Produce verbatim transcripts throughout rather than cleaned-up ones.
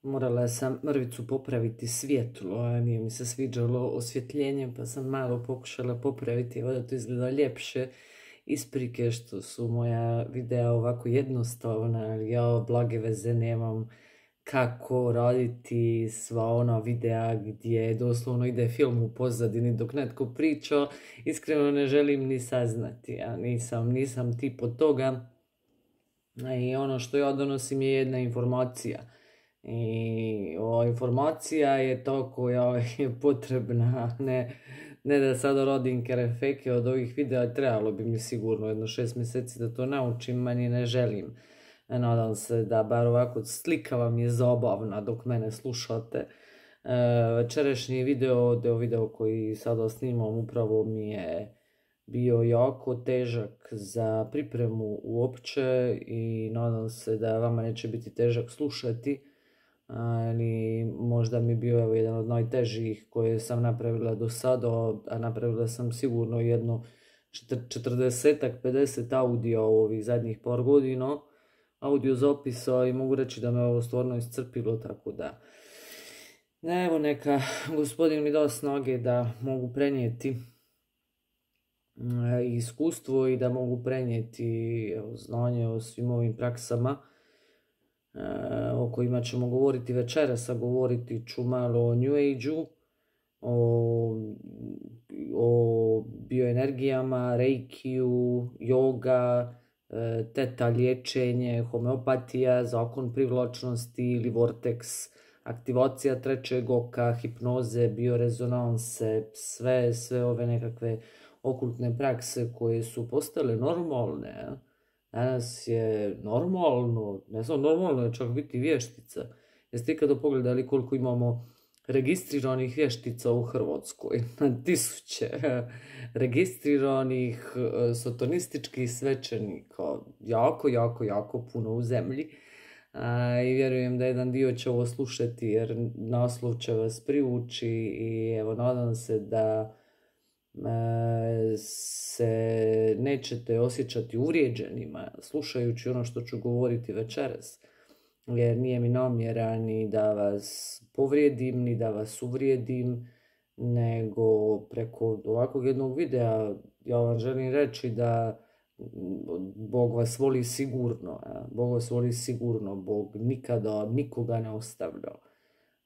Morala sam mrvicu popraviti svjetlo, a nije mi se sviđalo osvjetljenje, pa sam malo pokušala popraviti, evo da to izgleda ljepše. Isprike što su moja videa ovako jednostavna, ali ja blage veze nemam kako raditi sva ona videa gdje doslovno ide film u pozadini dok netko priča. Iskreno ne želim ni saznati, ja nisam, nisam tip od toga. I ono što ja donosim je jedna informacija. I ova informacija je to koja je potrebna, ne, ne da sada rodim kerefeke od ovih videa, trebalo bi mi sigurno jedno šest mjeseci da to naučim, meni ne želim. Nadam se da bar ovako slika vam je zabavna dok mene slušate. E, večerašnji video, deo video koji sada snimam, upravo mi je bio jako težak za pripremu uopće i nadam se da vama neće biti težak slušati. Ali možda mi je bio evo, jedan od najtežih koje sam napravila do sada, a napravila sam sigurno jedno četrdesetak, pedeset audio ovih zadnjih par godina, audio zapisa, i mogu reći da me ovo stvarno iscrpilo, tako da evo neka gospodin mi dao snage da mogu prenijeti iskustvo i da mogu prenijeti evo, znanje o svim ovim praksama o kojima ćemo govoriti večeras, a govoriti ću malo o New Age-u, o, o bioenergijama, reikiju, yoga, teta liječenje, homeopatija, zakon privlačnosti ili vortex, aktivacija trećeg oka, hipnoze, biorezonanse, sve, sve ove nekakve okultne prakse koje su postale normalne. Danas je normalno, ne samo normalno je čak biti vještica. Jeste ikada pogledali koliko imamo registriranih vještica u Hrvatskoj? Na tisuće registriranih satanističkih svećenika. Jako, jako, jako puno u zemlji. A, i vjerujem da jedan dio će ovo slušati jer naslov će vas privući i evo nadam se da se nećete osjećati uvrijeđenima slušajući ono što ću govoriti večeras, jer nije mi namjera ni da vas povrijedim, ni da vas uvrijedim, nego preko ovakvog jednog videa ja vam želim reći da Bog vas voli sigurno, Bog vas voli sigurno, Bog nikada nikoga ne ostavlja.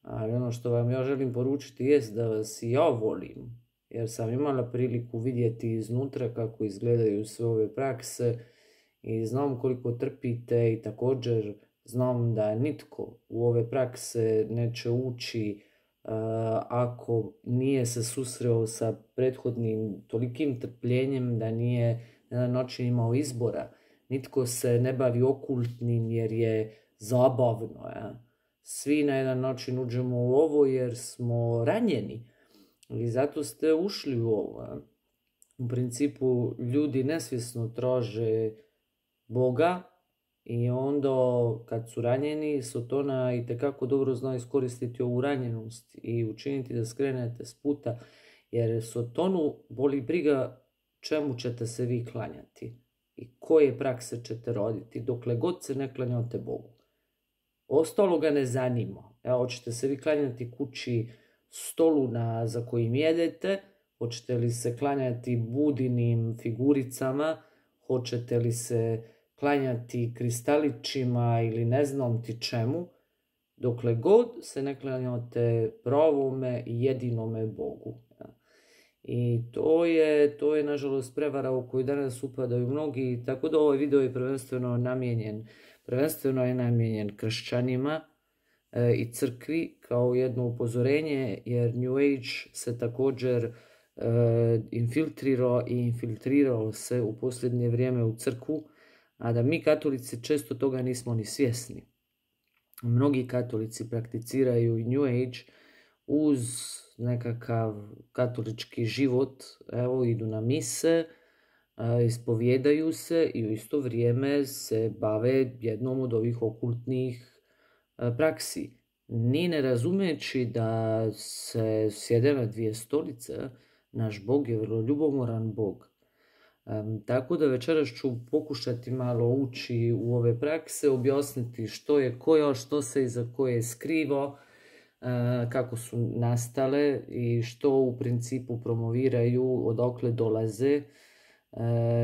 Ali ono što vam ja želim poručiti jest da vas i ja volim, jer sam imala priliku vidjeti iznutra kako izgledaju sve ove prakse i znam koliko trpite i također znam da nitko u ove prakse neće ući uh, ako nije se susreo sa prethodnim tolikim trpljenjem da nije na jedan način imao izbora. Nitko se ne bavi okultnim jer je zabavno. Ja? Svi na jedan način uđemo u ovo jer smo ranjeni. I zato ste ušli u ovo. U principu ljudi nesvjesno traže Boga i onda kad su ranjeni, Sotona itekako dobro zna iskoristiti ovu ranjenost i učiniti da skrenete s puta, jer Sotonu boli briga čemu ćete se vi klanjati i koje prakse ćete raditi dokle god se ne klanjate Bogu. Ostalo ga ne zanima. Evo, hoćete se vi klanjati kući, stolu na, za kojim jedete, hoćete li se klanjati budinim figuricama, hoćete li se klanjati kristalićima ili ne znam ti čemu, dokle god se ne klanjate pravome i jedinome Bogu. I to je, to je nažalost prevara u koju danas upadaju mnogi, tako da ovaj video je prvenstveno namijenjen, prvenstveno je namijenjen kršćanima i crkvi kao jedno upozorenje, jer New Age se također uh, infiltrirao i infiltrirao se u posljednje vrijeme u crkvu, a da mi katolici često toga nismo ni svjesni. Mnogi katolici prakticiraju New Age uz nekakav katolički život, evo idu na mise, uh, ispovjedaju se i u isto vrijeme se bave jednom od ovih okultnih praksi, ni ne razumeći da se sjede na dvije stolice. Naš Bog je vrlo ljubomoran Bog. Um, tako da večeras ću pokušati malo ući u ove prakse, objasniti što je koja, što se iza koje skriva, uh, kako su nastale i što u principu promoviraju, odakle dolaze, uh,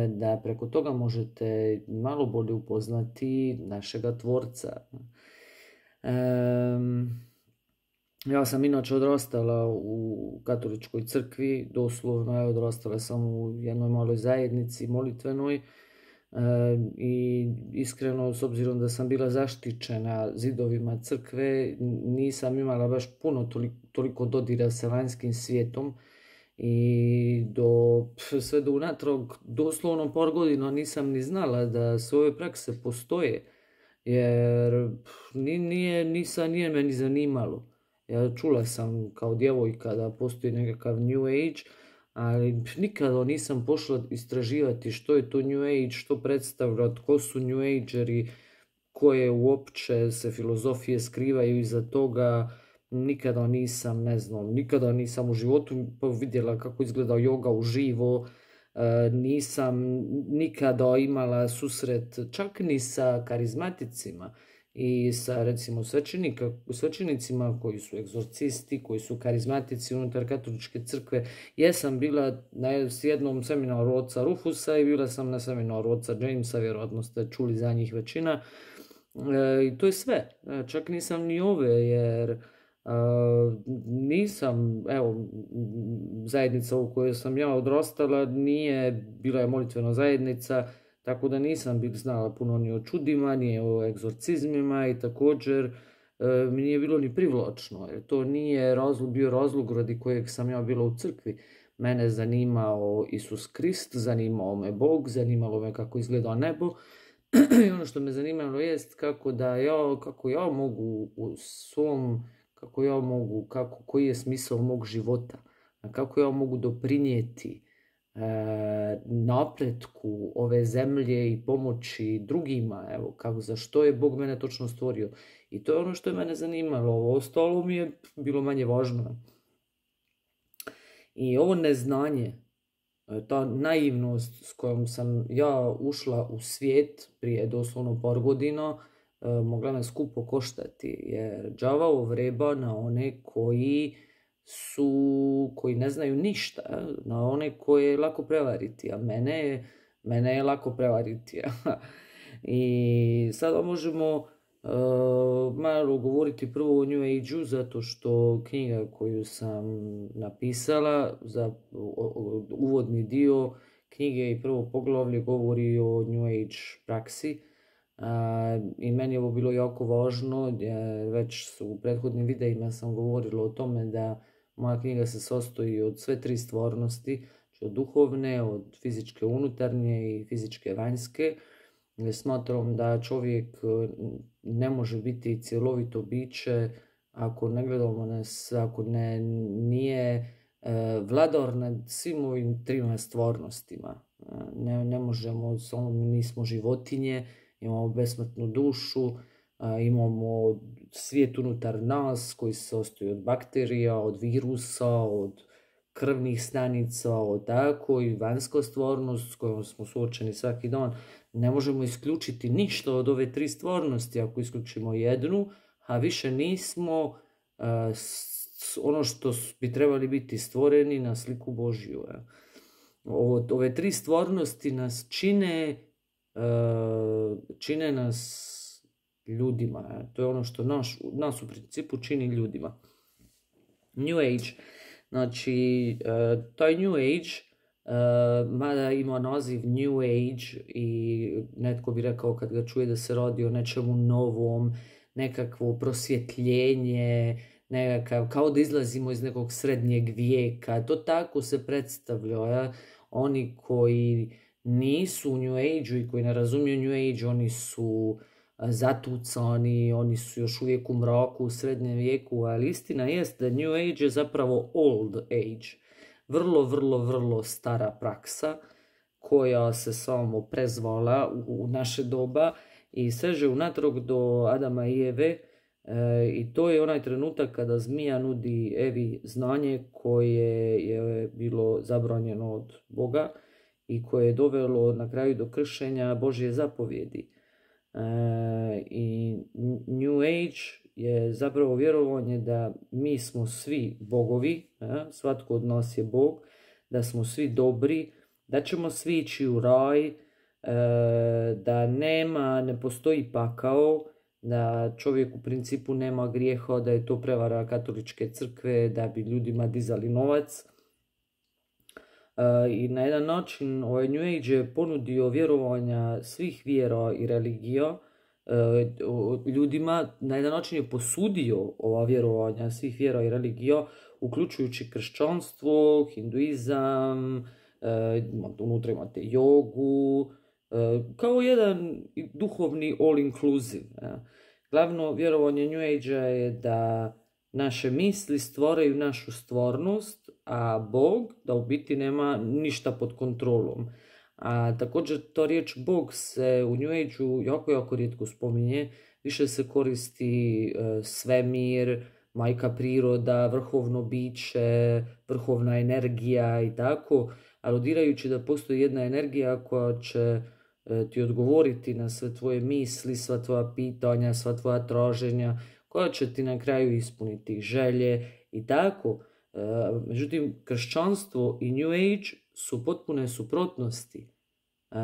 da preko toga možete malo bolje upoznati našega tvorca. Um, Ja sam inače odrastala u katoličkoj crkvi, doslovno je odrastala sam u jednoj maloj zajednici molitvenoj e, i iskreno, s obzirom da sam bila zaštićena zidovima crkve, nisam imala baš puno toliko, toliko dodira sa vanjskim svijetom i do, sve do unatrag doslovno par godina nisam ni znala da sve ove prakse postoje, jer nije, nisam, nije me ni zanimalo. Ja čula sam kao djevojka da postoji nekakav New Age, ali nikada nisam pošla istraživati što je to New Age, što predstavlja, tko su New Ageri, koje uopće se filozofije skrivaju iza toga. Nikada nisam, ne znam, nikada nisam u životu vidjela kako izgleda joga uživo, nisam nikada imala susret čak ni sa karizmaticima i sa recimo svećenicima koji su egzorcisti, koji su karizmatici unutar katoličke crkve. Jesam bila na jednom seminaru oca Rufusa i bila sam na seminaru oca Jamesa, vjerojatno ste čuli za njih većina. E, I to je sve. E, čak nisam ni ove, jer Uh, nisam, evo, zajednica u kojoj sam ja odrastala nije, bila je molitvena zajednica, tako da nisam bil znala puno ni o čudima, ni o egzorcizmima i također uh, mi nije bilo ni privlačno, jer to nije razlog, bio razlog radi kojeg sam ja bila u crkvi. Mene zanimao Isus Krist, zanimao me Bog, zanimalo me kako izgleda nebo i ono što me zanimalo jest kako da ja, kako ja mogu u svom kako ja mogu, kako, koji je smisao mog života, kako ja mogu doprinijeti e, napretku ove zemlje i pomoći drugima, evo, kako, za što je Bog mene točno stvorio. I to je ono što je mene zanimalo, ovo ostalo mi je bilo manje važno. I ovo neznanje, ta naivnost s kojom sam ja ušla u svijet prije doslovno par godina, mogla me skupo koštati, jer đavao vreba na one koji su, koji ne znaju ništa, na one koje je lako prevariti, a mene je, mene je lako prevariti. I sada možemo uh, malo govoriti prvo o New Age-u, zato što knjiga koju sam napisala za uvodni dio knjige i prvo poglavlje govori o New Age praksi. Uh, I meni je ovo bilo jako važno, jer već u prethodnim videima sam govorila o tome da moja knjiga se sastoji od sve tri stvarnosti, od duhovne, od fizičke unutarnje i fizičke vanjske. Smatram da čovjek ne može biti cjelovito biće ako ne gledamo nas, ako ne, nije uh, vladar nad svim ovim trima stvarnostima. Uh, ne, ne možemo, samo nismo životinje, imamo besmrtnu dušu, imamo svijet unutar nas koji se sastoji od bakterija, od virusa, od krvnih stanica, od tako i vanjska stvarnost s kojom smo suočeni svaki dan. Ne možemo isključiti ništa od ove tri stvarnosti. Ako isključimo jednu, a više nismo a, s, ono što bi trebali biti stvoreni na sliku Božju. Ja. Ovo, ove tri stvarnosti nas čine Uh, čine nas ljudima. To je ono što naš, nas u principu čini ljudima. New Age. Znači, uh, taj New Age, uh, mada ima naziv New Age i netko bi rekao kad ga čuje da se radi o nečemu novom, nekakvo prosvjetljenje, nekakav, kao da izlazimo iz nekog srednjeg vijeka. To tako se predstavlja. Ja? Oni koji nisu u New Age-u i koji ne razumiju New Age, oni su zatucani, oni su još uvijek u mraku, u srednjem vijeku, ali istina jest da New Age je zapravo old age. Vrlo, vrlo, vrlo stara praksa koja se samo prezvala u, u naše doba i seže unatrag do Adama i Eve, e, i to je onaj trenutak kada zmija nudi Evi znanje koje je bilo zabranjeno od Boga. i koje je dovelo na kraju do kršenja Božje zapovjedi. E, I New Age je zapravo vjerovanje da mi smo svi bogovi, e, svatko od nas je bog, da smo svi dobri, da ćemo svi ići u raj, e, da nema, ne postoji pakao, da čovjek u principu nema grijeha, da je to prevara katoličke crkve, da bi ljudima dizali novac. I na jedan način ovaj New Age je ponudio vjerovanja svih vjera i religija ljudima, na jedan način je posudio ova vjerovanja svih vjera i religija, uključujući kršćanstvo, hinduizam, unutra imate jogu, kao jedan duhovni all inclusive. Glavno vjerovanje New Age-a je da naše misli stvaraju našu stvarnost, a Bog da u biti nema ništa pod kontrolom. A također to riječ Bog se u New Age-u jako, jako rijetko spominje. Više se koristi e, svemir, majka priroda, vrhovno biće, vrhovna energija i tako, aludirajući da postoji jedna energija koja će e, ti odgovoriti na sve tvoje misli, sva tvoja pitanja, sva tvoja traženja, koja će ti na kraju ispuniti želje i tako. E, međutim, kršćanstvo i New Age su potpune suprotnosti. E,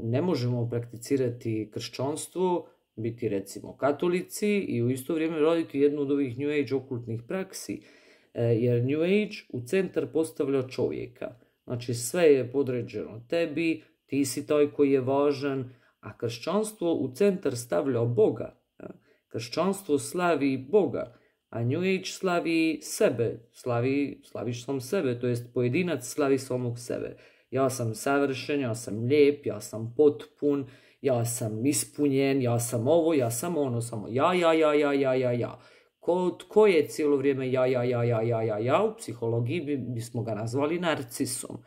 ne možemo prakticirati kršćanstvo, biti recimo katolici i u isto vrijeme raditi jednu od ovih New Age okultnih praksi, e, jer New Age u centar postavlja čovjeka. Znači sve je podređeno tebi, ti si taj koji je važan, a kršćanstvo u centar stavlja Boga. Kršćanstvo slavi Boga, a New Age slavi sebe, slavi, slaviš sam sebe, to jest pojedinac slavi samog sebe. Ja sam savršen, ja sam lijep, ja sam potpun, ja sam ispunjen, ja sam ovo, ja sam ono, samo ja, ja, ja, ja, ja, ja, ja. Ko, tko je cijelo vrijeme ja, ja, ja, ja, ja, ja, ja, u psihologiji bi, bismo ga nazvali narcisom.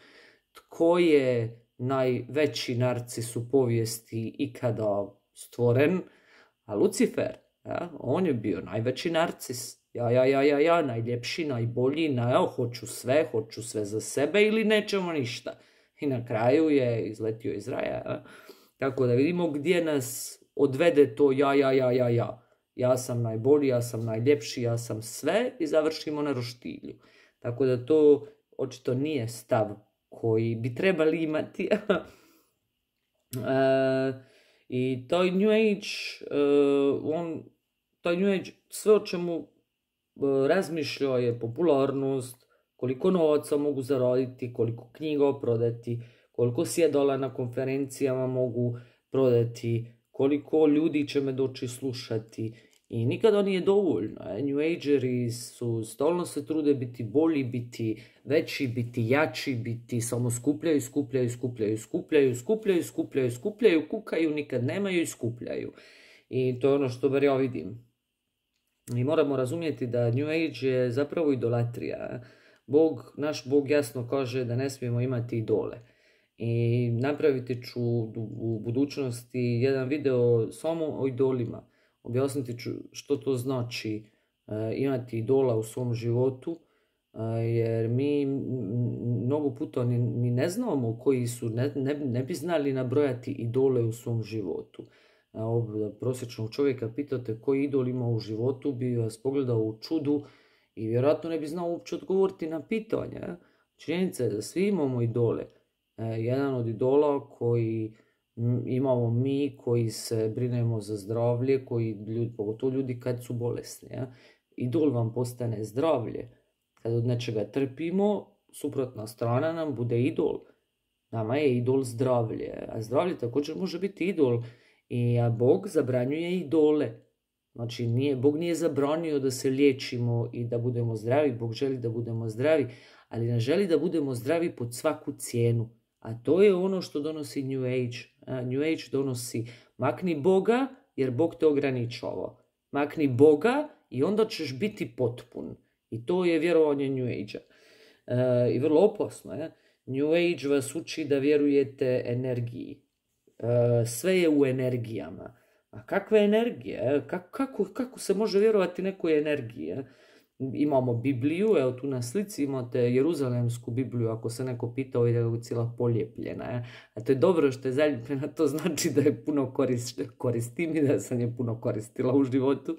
Tko je najveći narcis u povijesti ikada stvoren? A Lucifer, ja, on je bio najveći narcis. Ja, ja, ja, ja, ja, najljepši, najbolji, na, ja, hoću sve, hoću sve za sebe ili nećemo ništa. I na kraju je izletio iz raja. Ja. Tako da vidimo gdje nas odvede to ja, ja, ja, ja, ja. Ja sam najbolji, ja sam najljepši, ja sam sve i završimo na roštilju. Tako da to očito nije stav koji bi trebali imati. e, I taj New Age, uh, on, taj New Age, sve o čemu uh, razmišlja je popularnost, koliko novaca mogu zaraditi, koliko knjiga prodati, koliko sjedala na konferencijama mogu prodati, koliko ljudi će me doći slušati. I nikada nije dovoljno. New Ageri su stalno se trude biti bolji, biti veći, biti jači, biti samo skupljaju, skupljaju, skupljaju, skupljaju, skupljaju, skupljaju, skupljaju, kukaju, nikad nemaju i skupljaju. I to je ono što bar ja vidim. I moramo razumjeti da New Age je zapravo idolatrija. Bog, naš Bog jasno kaže da ne smijemo imati idole. I napraviti ću u budućnosti jedan video samo o idolima. Objasniti ću što to znači uh, imati idola u svom životu, uh, jer mi mnogo puta ni, ni ne znamo koji su, ne, ne, ne bi znali nabrojati idole u svom životu. Uh, prosječnog čovjeka pitate koji idol ima u životu, bi vas pogledao u čudu i vjerojatno ne bi znao uopće odgovoriti na pitanje. Činjenica je da svi imamo idole. Uh, jedan od idola koji imamo mi koji se brinemo za zdravlje, koji ljudi, pogotovo ljudi kad su bolesni. Ja? Idol vam postane zdravlje. Kad od nečega trpimo, suprotna strana nam bude idol. Nama je idol zdravlje. A zdravlje također može biti idol. I a Bog zabranjuje idole. Znači, nije, Bog nije zabranio da se liječimo i da budemo zdravi. Bog želi da budemo zdravi, ali ne želi da budemo zdravi pod svaku cijenu. A to je ono što donosi New Age. New Age donosi makni Boga jer Bog te ograničava. Makni Boga i onda ćeš biti potpun. I to je vjerovanje New Age-a. E, I vrlo opasno je. New Age vas uči da vjerujete energiji. E, sve je u energijama. A kakve energije? Kako, kako, kako se može vjerovati nekoj energiji? imamo Bibliju, evo tu na slici imate Jeruzalemsku Bibliju, ako se neko pita, ovdje je cijela polijepljena. Je. A to je dobro što je zaljepljena, to znači da je puno korist, koristim i da sam je puno koristila u životu.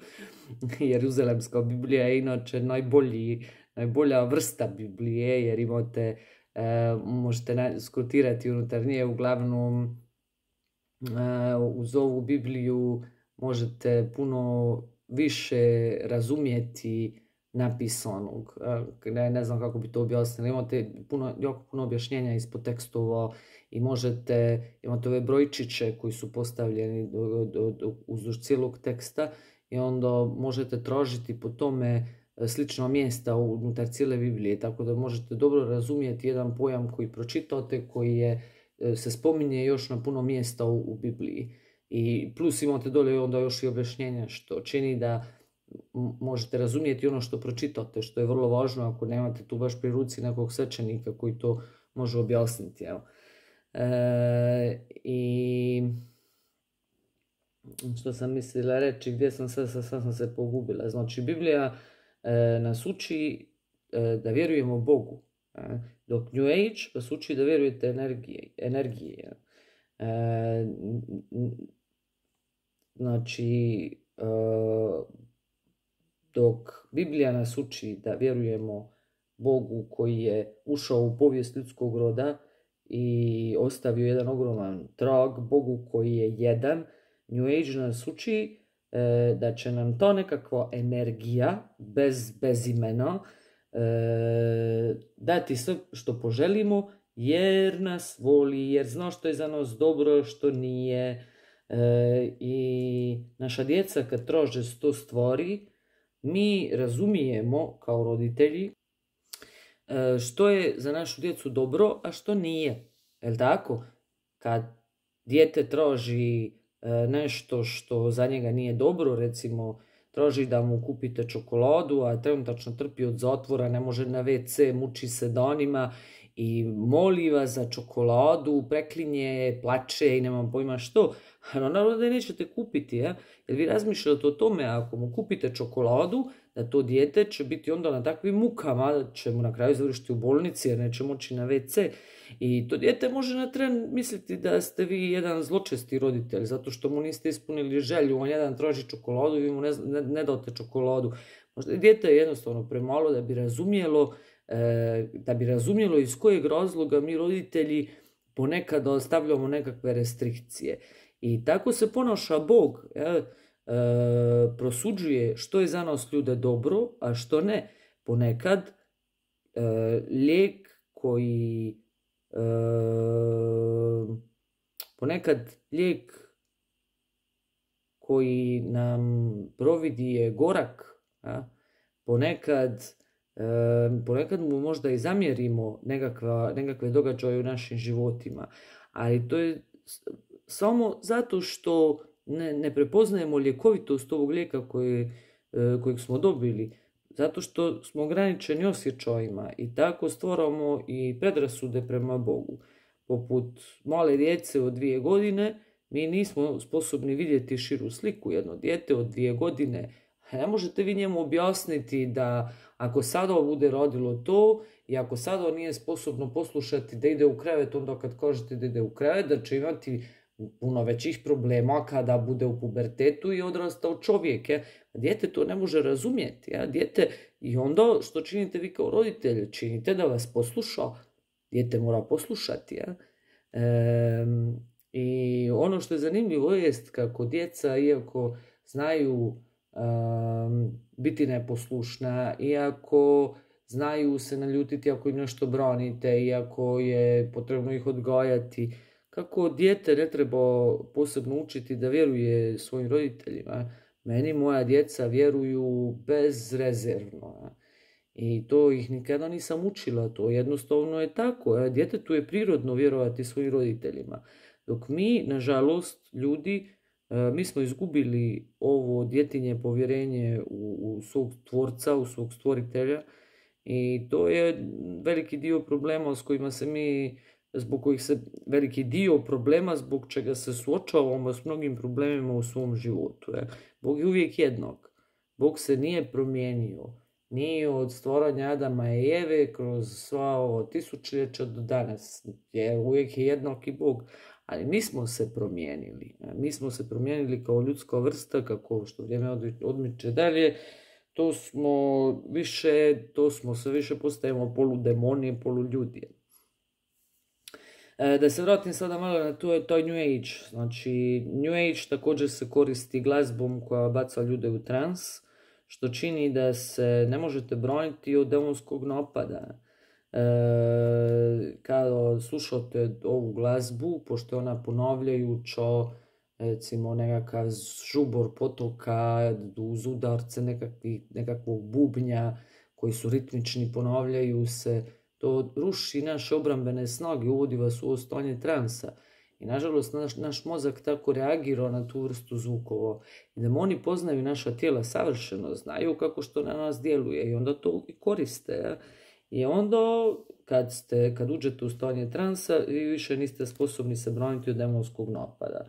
Jeruzalemska Biblija je inače najbolji, najbolja vrsta Biblije, jer imate, e, možete skrutirati unutar nje, uglavnom e, uz ovu Bibliju možete puno više razumjeti napisanog. Ne, ne znam kako bi to objasnili. Imate puno, jako puno objašnjenja ispod tekstova i možete, imate ove brojčiće koji su postavljeni do, do, do, uzduž cijelog teksta i onda možete tražiti po tome slična mjesta unutar cijele Biblije, tako da možete dobro razumjeti jedan pojam koji pročitate, koji je, se spominje još na puno mjesta u, u Bibliji. I plus imate dolje onda još i objašnjenja što čini da možete razumjeti ono što pročitate, što je vrlo važno ako nemate tu baš pri ruci nekog svećenika koji to može objasniti. Evo. E, I što sam mislila reći, gdje sam sad, sad, sad sam se pogubila. Znači, Biblija e, nas uči e, da vjerujemo Bogu, e, dok New Age vas uči da vjerujete energije. energije e, znači, e, dok Biblija nas uči da vjerujemo Bogu koji je ušao u povijest ljudskog roda i ostavio jedan ogroman trag, Bogu koji je jedan, New Age nas uči e, da će nam to nekakva energija bez, bez imena e, dati sve što poželimo jer nas voli, jer zna što je za nas dobro, što nije. E, I naša djeca kad traže sto stvari, mi razumijemo kao roditelji e, što je za našu djecu dobro, a što nije. Jel' tako? Kad dijete traži e, nešto što za njega nije dobro, recimo traži da mu kupite čokoladu, a trenutačno trpi od zatvora, ne može na ve ce, muči se danima i moli vas za čokoladu, preklinje, plače i nemam pojma što, no naravno da je nećete kupiti, ja? Jer vi razmišljate o tome, ako mu kupite čokoladu, da to dijete će biti onda na takvim mukama, da će mu na kraju završiti u bolnici jer neće moći na ve ce. I to dijete može na tren misliti da ste vi jedan zločesti roditelj, zato što mu niste ispunili želju, on jedan traži čokoladu i vi mu ne, ne, ne date čokoladu. Možda dijete je jednostavno premalo da bi razumjelo da bi razumjelo iz kojeg razloga mi roditelji ponekad ostavljamo nekakve restrikcije. I tako se ponaša Bog. Ja, e, prosuđuje što je za nas ljude dobro, a što ne. Ponekad e, lijek koji e, ponekad lijek koji nam providi je gorak. Ja? Ponekad E, ponekad mu možda i zamjerimo nekakva, nekakve događaje u našim životima, ali to je samo zato što ne, ne prepoznajemo ljekovitost ovog lijeka koje, e, kojeg smo dobili, zato što smo ograničeni osjećajima i tako stvaramo i predrasude prema Bogu. Poput male djece od dvije godine, mi nismo sposobni vidjeti širu sliku. Jedno dijete od dvije godine, ne možete vi njemu objasniti da ako sada bude rodilo to i ako sada nije sposobno poslušati da ide u krevet, onda kad kažete da ide u krevet, da će imati puno većih problema kada bude u pubertetu i odrastao čovjek. Ja? Dijete to ne može razumjeti. Ja? Dijete, i onda što činite vi kao roditelj? Činite da vas posluša. Dijete mora poslušati. Ja? E, I ono što je zanimljivo jest kako djeca, iako znaju Um, biti neposlušna, iako znaju se naljutiti ako im nešto branite, iako je potrebno ih odgajati, kako dijete ne treba posebno učiti da vjeruje svojim roditeljima. Meni moja djeca vjeruju bezrezervno i to ih nikada nisam učila, to jednostavno je tako. Djetetu je prirodno vjerovati svojim roditeljima, dok mi, nažalost, ljudi, mi smo izgubili ovo djetinje povjerenje u, u svog tvorca, u svog stvoritelja i to je veliki dio problema s kojima se mi, zbog kojih se, veliki dio problema zbog čega se suočavamo s mnogim problemima u svom životu. Je. Bog je uvijek jednak. Bog se nije promijenio. Nije od stvaranja Adama i Eve kroz sva ovo tisućljeća do danas. Je, uvijek je jednaki Bog. Ali mi smo se promijenili. Mi smo se promijenili kao ljudska vrsta, kako što vrijeme odmiče dalje. To smo više, to smo sve više postajemo poludemoni, poluljudi. Da se vratim sada malo na to, taj New Age. Znači, New Age također se koristi glazbom koja baca ljude u trans, što čini da se ne možete braniti od demonskog napada. E, kada slušate ovu glazbu, pošto je ona ponavljajuća, recimo nekakav žubor potoka uz udarce nekakvog bubnja koji su ritmični, ponavljaju se, to ruši naše obrambene snage, uvodi vas u stanje transa. I nažalost naš, naš mozak tako reagira na tu vrstu zvukova. I demoni poznaju naša tijela savršeno, znaju kako što na nas djeluje i onda to i koriste. I onda kad, ste, kad uđete u stanje transa, vi više niste sposobni se braniti od demonskog napada.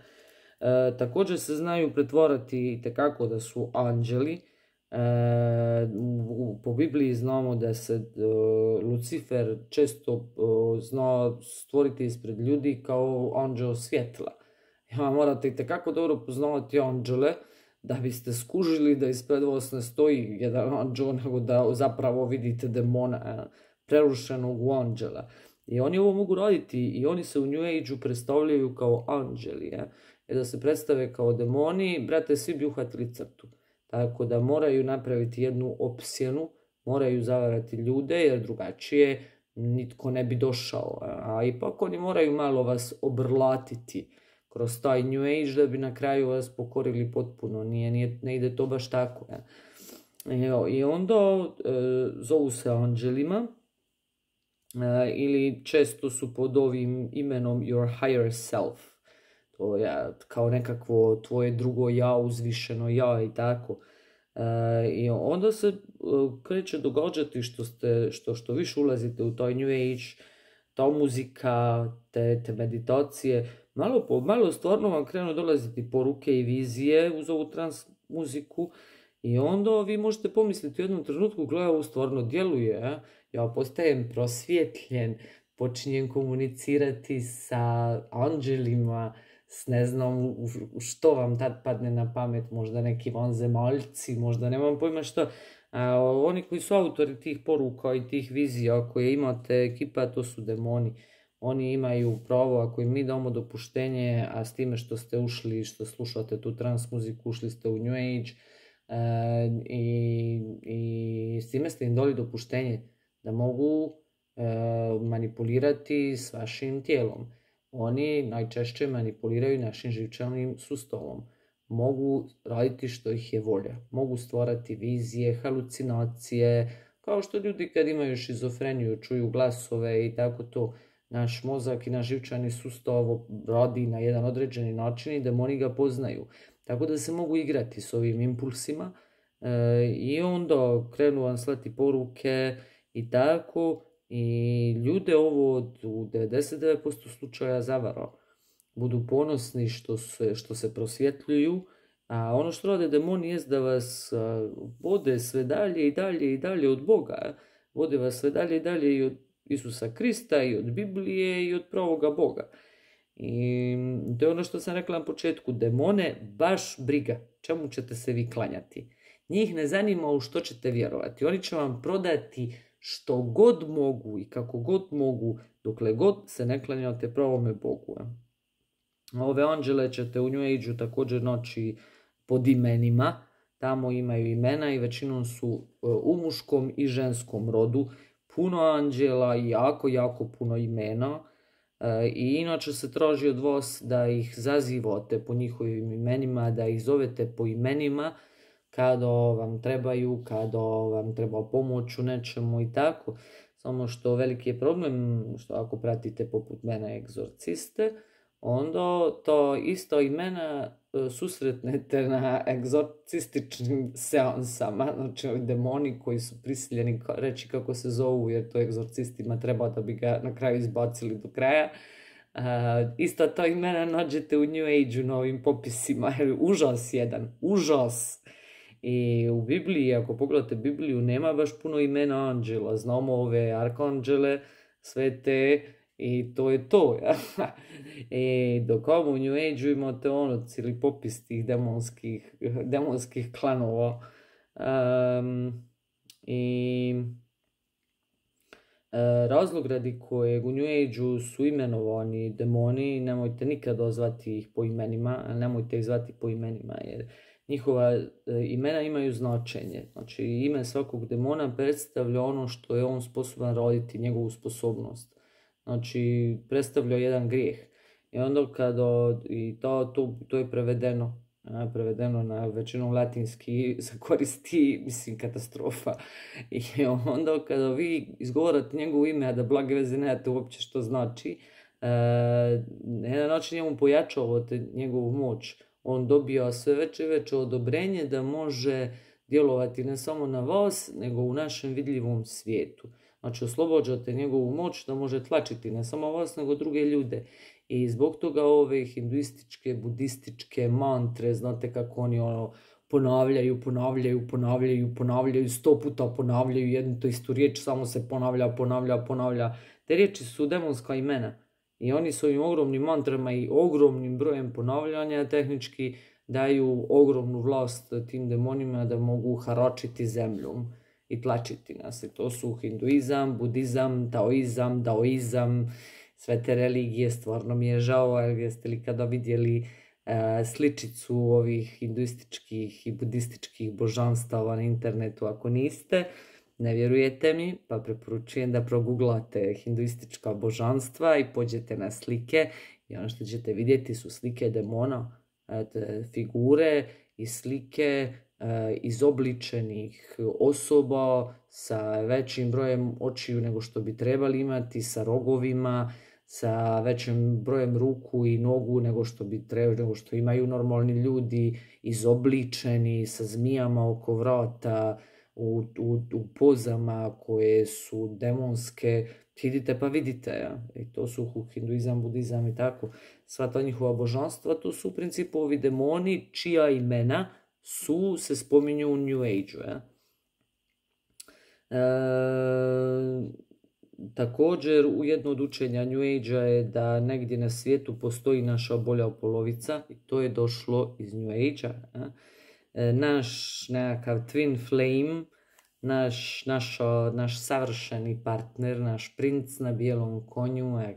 E, također se znaju pretvorati tekako da su anđeli. E, u, po Bibliji znamo da se e, Lucifer često e, zna stvoriti ispred ljudi kao anđeo svjetla. Ja, morate tekako dobro poznavati anđele da biste skužili da ispred vas ne stoji jedan anđeo, nego da zapravo vidite demona prerušenog u anđela. I oni ovo mogu raditi i oni se u New Age-u predstavljaju kao anđeli. Ja? I da se predstave kao demoni, brate, svi bi uhvatili crtu. Tako da moraju napraviti jednu opsjenu, moraju zavarati ljude, jer drugačije nitko ne bi došao. A ipak oni moraju malo vas obrlatiti kroz taj New Age da bi na kraju vas pokorili potpuno. Nije, nije, ne ide to baš tako. Ja. I onda e, zovu se anđelima e, ili često su pod ovim imenom your higher self. To je kao nekakvo tvoje drugo ja, uzvišeno ja i tako. E, I onda se kreće događati što, ste, što, što više ulazite u taj New Age, ta muzika, te, te meditacije, malo po malo stvarno vam krenu dolaziti poruke i vizije uz ovu trans muziku i onda vi možete pomisliti u jednom trenutku, gledaj, ovo stvarno djeluje, ja postajem prosvjetljen, počinjem komunicirati sa anđelima, s ne znam što vam tad padne na pamet, možda neki vanzemaljci, možda nemam pojma što. A oni koji su autori tih poruka i tih vizija koje imate ekipa, to su demoni. Oni imaju pravo, ako im mi damo dopuštenje, a s time što ste ušli, što slušate tu trans muziku, ušli ste u New Age e, i, i s time ste im dali dopuštenje da mogu e, manipulirati s vašim tijelom. Oni najčešće manipuliraju našim živčanim sustavom. Mogu raditi što ih je volja. Mogu stvarati vizije, halucinacije, kao što ljudi kad imaju šizofreniju čuju glasove i tako to. Naš mozak i naš živčani sustav radi na jedan određeni način i demoni ga poznaju. Tako da se mogu igrati s ovim impulsima e, i onda krenu vam slati poruke i tako. I ljude ovo u devedeset devet posto slučaja zavara. Budu ponosni što se, što se prosvjetljuju, a ono što rade demoni jest da vas vode sve dalje i dalje i dalje od Boga. Vode vas sve dalje i dalje i od Isusa Krista i od Biblije i od pravoga Boga. I to je ono što sam rekla na početku, demone baš briga čemu ćete se vi klanjati. Njih ne zanima u što ćete vjerovati. Oni će vam prodati što god mogu i kako god mogu, dokle god se ne klanjate pravome Bogu. Ove anđele ćete u New Age-u također naći pod imenima. Tamo imaju imena i većinom su u muškom i ženskom rodu. Puno anđela i jako, jako puno imena. I inače se traži od vas da ih zazivate po njihovim imenima, da ih zovete po imenima, kada vam trebaju, kada vam treba pomoć u nečemu i tako. Samo što veliki je problem, što ako pratite poput mene egzorciste, onda to isto imena susretnete na egzorcističnim seansama. Znači demoni koji su prisiljeni reći kako se zovu, jer to egzorcistima treba da bi ga na kraju izbacili do kraja. Uh, isto to imena nađete u New Age-u na ovim popisima. Užas jedan, užas. I u Bibliji, ako pogledate Bibliju, nema baš puno imena anđela. Znamo ove arkanđele, sve te, i to je to. Ja? I dok ovo u New Age-u imate ono, cijeli popis tih demonskih, demonskih klanova. Um, I e, razlog radi kojeg u New Age-u su imenovani demoni, nemojte nikada zvati ih po imenima, nemojte ih zvati po imenima, jer njihova e, imena imaju značenje. Znači, ime svakog demona predstavlja ono što je on sposoban raditi, njegovu sposobnost. Znači, predstavlja jedan grijeh. I onda kada, i to, to, to je prevedeno, a, prevedeno na većinom latinski, se koristi, mislim, katastrofa. I onda kada vi izgovarate njegovo ime, a da blage veze nemate uopće što znači, e, na jedan način njemu pojačavate njegovu moć. On dobija sve veće i veće odobrenje da može djelovati ne samo na vas, nego u našem vidljivom svijetu. Znači, oslobođate njegovu moć da može tlačiti ne samo vas, nego druge ljude. I zbog toga ove hinduističke, budističke mantre, znate kako oni ono ponavljaju, ponavljaju, ponavljaju, ponavljaju, sto puta ponavljaju jednu to istu riječ, samo se ponavlja, ponavlja, ponavlja. Te riječi su demonska imena. I oni s ovim ogromnim mantrama i ogromnim brojem ponavljanja tehnički daju ogromnu vlast tim demonima da mogu haračiti zemljom i tlačiti nas. I to su hinduizam, budizam, taoizam, daoizam, sve te religije. Stvarno mi je žao, jer jeste li kada vidjeli uh, sličicu ovih hinduističkih i budističkih božanstava na internetu? Ako niste, ne vjerujete mi, pa preporučujem da proguglate hinduistička božanstva i pođete na slike i ono što ćete vidjeti su slike demona, te figure i slike uh, izobličenih osoba sa većim brojem očiju nego što bi trebali imati, sa rogovima, sa većim brojem ruku i nogu nego što bi trebali, nego što imaju normalni ljudi, izobličeni sa zmijama oko vrata, u, u, u pozama koje su demonske. Idite pa vidite, ja. I to su hinduizam, budizam i tako. Sva ta njihova božanstva, to su u principu ovi demoni čija imena su, se spominju u New Age-u. Ja. E, također, u jedno od učenja New Age-a je da negdje na svijetu postoji naša bolja polovica i to je došlo iz New Age-a. Ja. E, naš nekakav twin flame, Naš, naš, naš savršeni partner, naš princ na bijelom konju. E,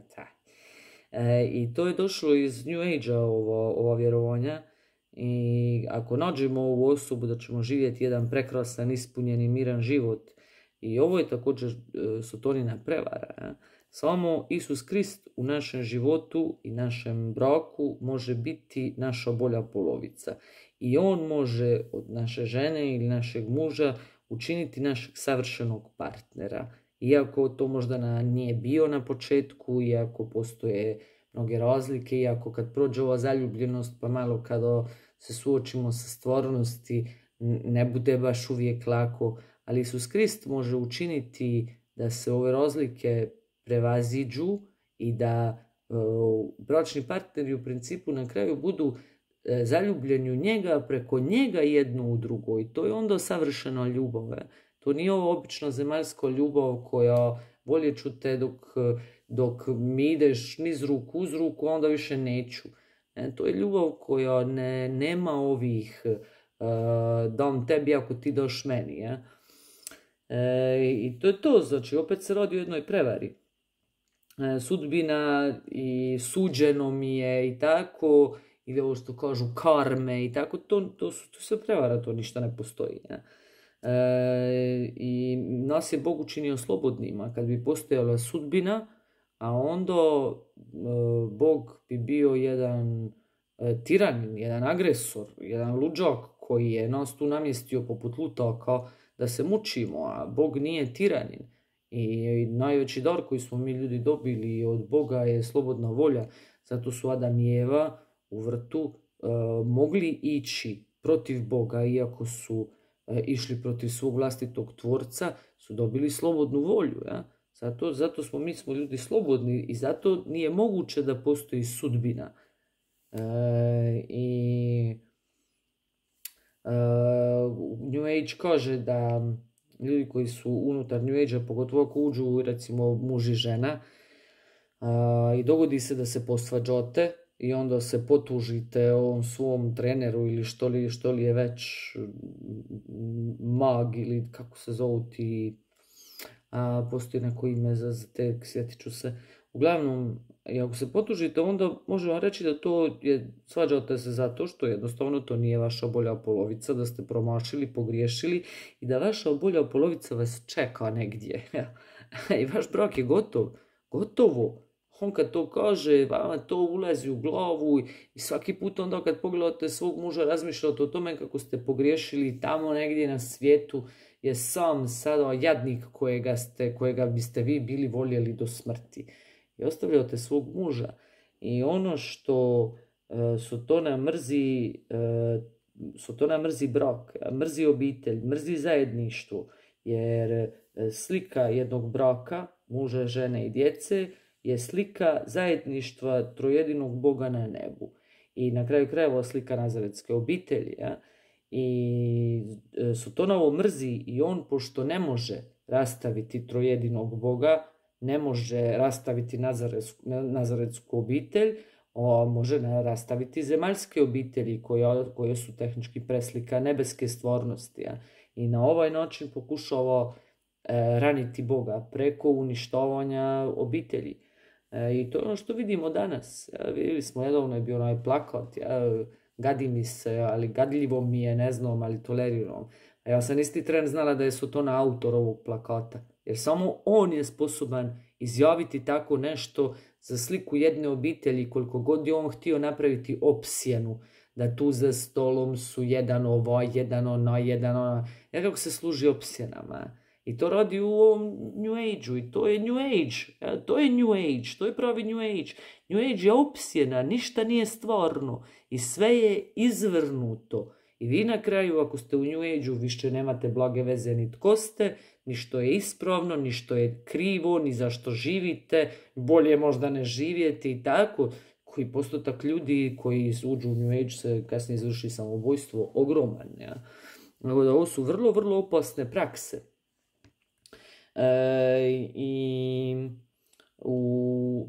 e, I to je došlo iz New Age-a, ovo, ova vjerovanja. I ako nađemo ovu osobu da ćemo živjeti jedan prekrasan, ispunjeni, miran život. I ovo je također e, sotonina prevara. E. Samo Isus Krist u našem životu i našem braku može biti naša bolja polovica. I on može od naše žene ili našeg muža učiniti našeg savršenog partnera. Iako to možda na, nije bio na početku, iako postoje mnoge razlike, iako kad prođe ova zaljubljenost, pa malo kada se suočimo sa stvarnosti, ne bude baš uvijek lako, ali Isus Krist može učiniti da se ove razlike prevaziđu i da uh, bračni partneri u principu na kraju budu zaljubljeni u njega, preko njega jedno u drugo. I to je onda savršena ljubav. To nije ovo obična zemaljska ljubav koja bolje ću te dok, dok mi ideš niz ruku uz ruku, onda više neću. E, to je ljubav koja ne, nema ovih uh, dam tebi ako ti daš meni. Ja? E, I to je to. Znači, opet se radi o jednoj prevari. E, sudbina i suđeno mi je i tako, ili ovo što kažu karme i tako, to, to, su, to se prevara, to ništa ne postoji. Ne? E, I nas je Bog učinio slobodnima. Kad bi postojala sudbina, a onda e, Bog bi bio jedan e, tiranin, jedan agresor, jedan luđak koji je nas tu namjestio poput lutaka da se mučimo, a Bog nije tiranin. I, i najveći dar koji smo mi ljudi dobili od Boga je slobodna volja. Zato su Adam i Eva u vrtu e, mogli ići protiv Boga, iako su e, išli protiv svog vlastitog tvorca, su dobili slobodnu volju. Ja? Zato, zato smo mi smo ljudi slobodni i zato nije moguće da postoji sudbina. E, I New Age kaže da ljudi koji su unutar New Age-a, pogotovo ako uđu recimo muž i žena, i dogodi se da se posvađate i onda se potužite ovom svom treneru ili što li, što li je već mag ili kako se zovu ti, a, postoji neko ime za, za te, sjetit ću se. Uglavnom, i ako se potužite, onda možemo reći da to je, svađate se zato što jednostavno to nije vaša obolja polovica, da ste promašili, pogriješili i da vaša obolja polovica vas čeka negdje. I vaš brak je gotov, gotovo. On kad to kaže, vama to ulazi u glavu i svaki put onda kad pogledate svog muža razmišljate o tome kako ste pogriješili tamo negdje na svijetu je sam sada jadnik kojega, ste, kojega biste vi bili voljeli do smrti. I ostavljate svog muža. I ono što uh, Sotona mrzi, uh, Sotona mrzi brak, mrzi obitelj, mrzi zajedništvo, jer slika jednog braka, muža, žene i djece, je slika zajedništva trojedinog Boga na nebu. I na kraju krajeva slika nazaretske obitelji. Ja? I Sotonovo mrzi i on, pošto ne može rastaviti trojedinog Boga, ne može rastaviti nazaretsku, nazaretsku obitelj, on može rastaviti zemaljske obitelji koje, koje su tehnički preslika nebeske stvornosti. Ja? I na ovaj način pokušava e, raniti Boga preko uništavanja obitelji. E, I to je ono što vidimo danas. Ja, vidjeli smo, nedavno je bio onaj plakat, ja, gadi mi se, ali gadljivo mi je, ne znam, ali toleriram. A ja sam isti tren znala da je Sotona autor ovog plakata. Jer samo on je sposoban izjaviti tako nešto za sliku jedne obitelji, koliko god je on htio napraviti opsjenu, da tu za stolom su jedan ovaj, jedan ona, jedan ona. Ja kako se služi opsjenama. I to radi u ovom New Age-u i to je New Age. Ja, to je New Age, to je pravi New Age. New Age je opsjena, ništa nije stvarno i sve je izvrnuto. I vi na kraju, ako ste u New Age-u, više nemate blage veze ni tko ste, ni što je ispravno, ni što je krivo, ni zašto živite, bolje možda ne živjeti i tako. Koji postotak ljudi koji uđu u New Age se kasnije izvrši samoubojstvo, ogroman. Ja. Nego da ovo su vrlo, vrlo opasne prakse. E, I u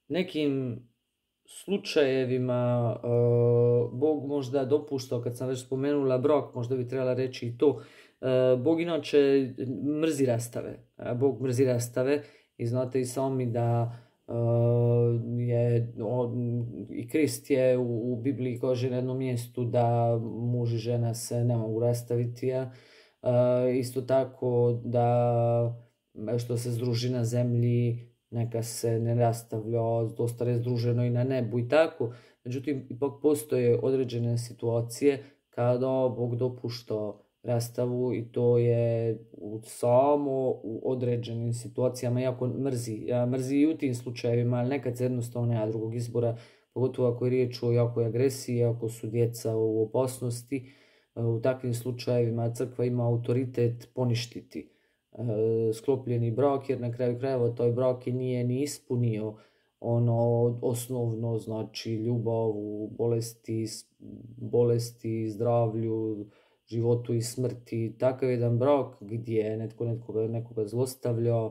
nekim slučajevima uh, Bog možda dopuštao, kad sam već spomenula brak, možda bi trebala reći i to, uh, Bog inače mrzi rastave. Uh, Bog mrzi rastave i znate i sami da uh, je on, i Krist je u, u Bibliji kaže na jednom mjestu da muž i žena se ne mogu rastaviti. Ja? Uh, isto tako da što se združi na zemlji neka se ne rastavlja, dosta je združeno i na nebu i tako. Međutim, ipak postoje određene situacije kada Bog dopušta rastavu i to je samo u određenim situacijama, jako mrzi. Ja mrzi i u tim slučajevima, ali nekad se jednostavno nema drugog izbora, pogotovo ako je riječ o jakoj agresiji, ako su djeca u opasnosti. U takvim slučajevima crkva ima autoritet poništiti sklopljeni brak, jer na kraju krajeva taj brak nije ni ispunio ono osnovno, znači ljubav u bolesti, bolesti, zdravlju, životu i smrti. Takav jedan brak gdje netko nekoga, nekoga zlostavlja,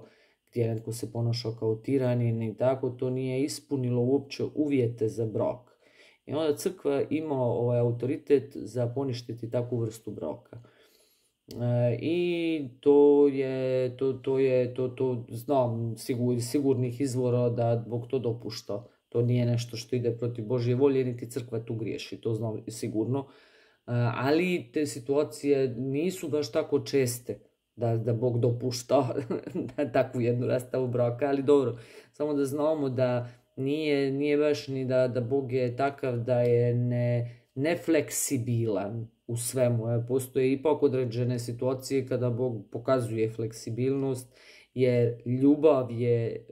gdje netko se ponaša kao tiranin i tako, to nije ispunilo uopće uvjete za brak. I onda crkva ima ovaj autoritet za poništiti takvu vrstu braka. E, I to je, to, to je, to, to znam sigur, sigurnih izvora da Bog to dopušta. To nije nešto što ide protiv Božje volje, niti crkva tu griješi, to znam sigurno. E, ali te situacije nisu baš tako česte da, da Bog dopušta takvu jednu rastavu braka, ali dobro, samo da znamo da nije, nije baš ni da, da Bog je takav da je ne, nefleksibilan u svemu. Postoje ipak određene situacije kada Bog pokazuje fleksibilnost, jer ljubav je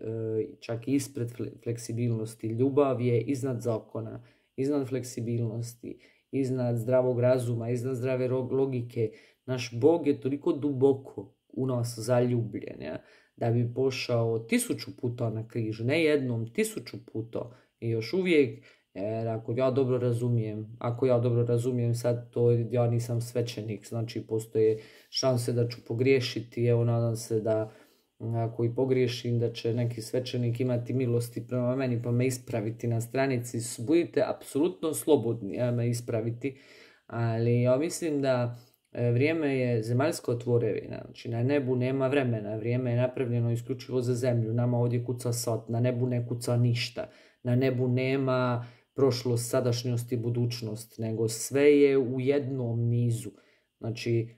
čak ispred fleksibilnosti. Ljubav je iznad zakona, iznad fleksibilnosti, iznad zdravog razuma, iznad zdrave logike. Naš Bog je toliko duboko u nas zaljubljen, ja, da bi pošao tisuću puta na križ, ne jednom, tisuću puta. I još uvijek Jer ako ja dobro razumijem, ako ja dobro razumijem sad to, ja nisam svećenik, znači postoje šanse da ću pogriješiti, evo nadam se da ako i pogriješim da će neki svećenik imati milosti prema meni pa me ispraviti na stranici. Budite apsolutno slobodni ja, me ispraviti, ali ja mislim da vrijeme je zemaljska tvorevina, znači na nebu nema vremena, vrijeme je napravljeno isključivo za zemlju, nama ovdje kuca sat, na nebu ne kuca ništa, na nebu nema prošlost, sadašnjost i budućnost, nego sve je u jednom nizu. Znači,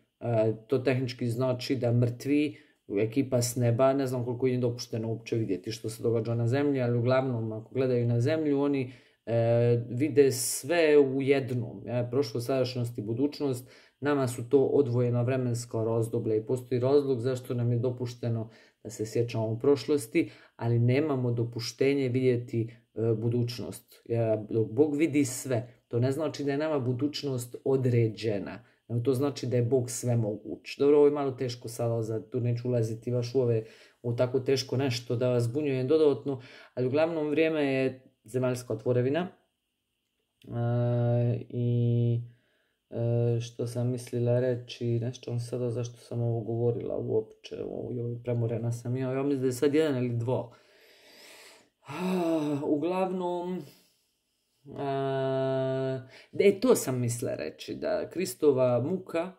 to tehnički znači da mrtvi, ekipa s neba, ne znam koliko je dopušteno uopće vidjeti što se događa na zemlji, ali uglavnom ako gledaju na zemlju, oni e, vide sve u jednom. Ja, prošlost, sadašnjost i budućnost, nama su to odvojena vremenska razdoblja i postoji razlog zašto nam je dopušteno da se sjećamo u prošlosti, ali nemamo dopuštenje vidjeti e, budućnost. Ja, dok Bog vidi sve, to ne znači da je nama budućnost određena. To znači da je Bog sve moguć. Dobro, ovo je malo teško sada, za tu neću ulaziti baš u, ove, u tako teško nešto da vas zbunjujem dodatno, ali uglavnom vrijeme je zemaljska tvorevina. E, I e, što sam mislila reći, nešto sada zašto sam ovo govorila uopće, premorena sam ja, ja mislim da je sad jedan ili dva. Uglavnom, E, to sam mislila reći, da Kristova muka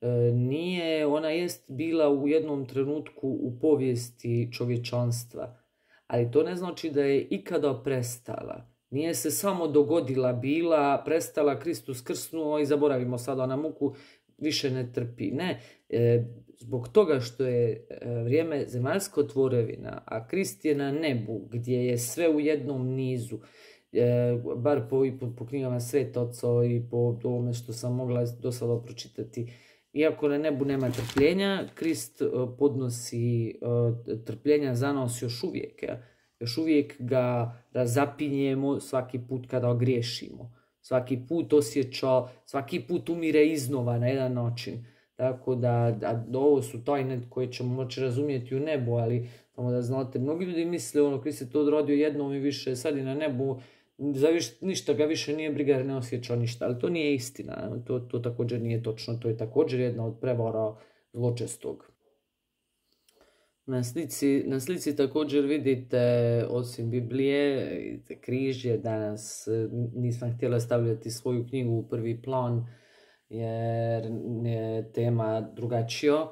e, nije, ona jest bila u jednom trenutku u povijesti čovječanstva, ali to ne znači da je ikada prestala. Nije se samo dogodila, bila, prestala, Kristus krsnuo i zaboravimo sada na muku, više ne trpi. Ne, e, zbog toga što je e, vrijeme zemaljsko tvorevina, a Krist je na nebu gdje je sve u jednom nizu, E, bar po, po, po knjigama Svetoca i po ovome što sam mogla do sada pročitati. Iako na nebu nema trpljenja, Krist e, podnosi e, trpljenja za nas još uvijek. Ja. Još uvijek ga razapinjemo svaki put kada griješimo. Svaki put osjeća, svaki put umire iznova na jedan način. Tako da, da ovo su tajne koje ćemo moći razumjeti u nebu, ali samo da znate, mnogi ljudi misle ono, Krist je to odradio jednom i više, sad je na nebu, za viš, ništa ga više nije briga jer ne osjeća ništa, ali to nije istina, to, to također nije točno, to je također jedna od prevara zločestog. Na slici, na slici također vidite, osim Biblije, vidite križje, danas nisam htjela stavljati svoju knjigu u prvi plan, jer je tema drugačija.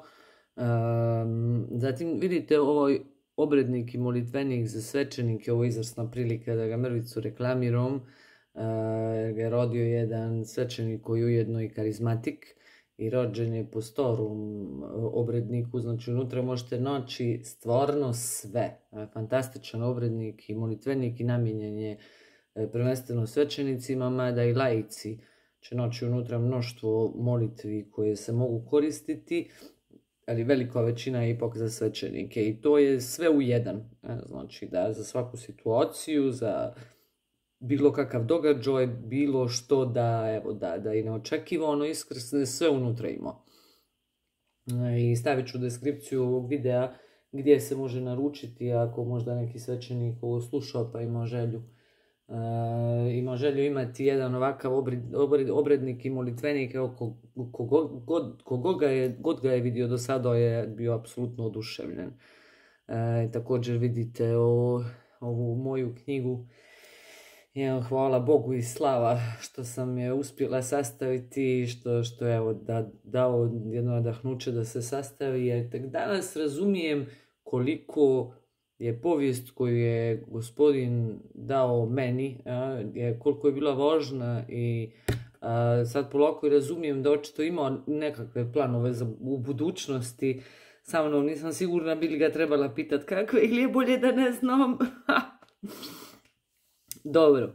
Um, zatim vidite ovaj obrednik i molitvenik za svećenike, ovo je izvrsna prilika da ga mrvicu reklamiram, uh, jer ga je rodio jedan svećenik koji je ujedno i karizmatik i rođen je po starom obredniku, znači unutra možete naći stvarno sve. Fantastičan obrednik i molitvenik i namijenjen je prvenstveno svećenicima, mada i laici će naći unutra mnoštvo molitvi koje se mogu koristiti, ali velika većina je ipak za svećenike i to je sve u jedan. Znači da za svaku situaciju, za bilo kakav događaj, bilo što da, evo, da, da i neočekivano iskrsne, sve unutra ima. I stavit ću deskripciju ovog videa gdje se može naručiti ako možda neki svećenik ovo slušao pa ima želju. Uh, ima želju imati jedan ovakav obred, obred, obrednik i molitvenik, evo kogod ko ko ko ga, god ga je vidio do sada je bio apsolutno oduševljen. Uh, također vidite o, ovu moju knjigu. Evo, hvala Bogu i slava što sam je uspjela sastaviti, što, što je evo, da, dao jedno nadahnuće da se sastavi, jer tek danas razumijem koliko je povijest koju je Gospodin dao meni, a, je, koliko je bila važna i a, sad polako razumijem da očito ima nekakve planove za, u budućnosti. Sa mnom nisam sigurna bi li ga trebala pitati kakve ili je bolje da ne znam. Dobro.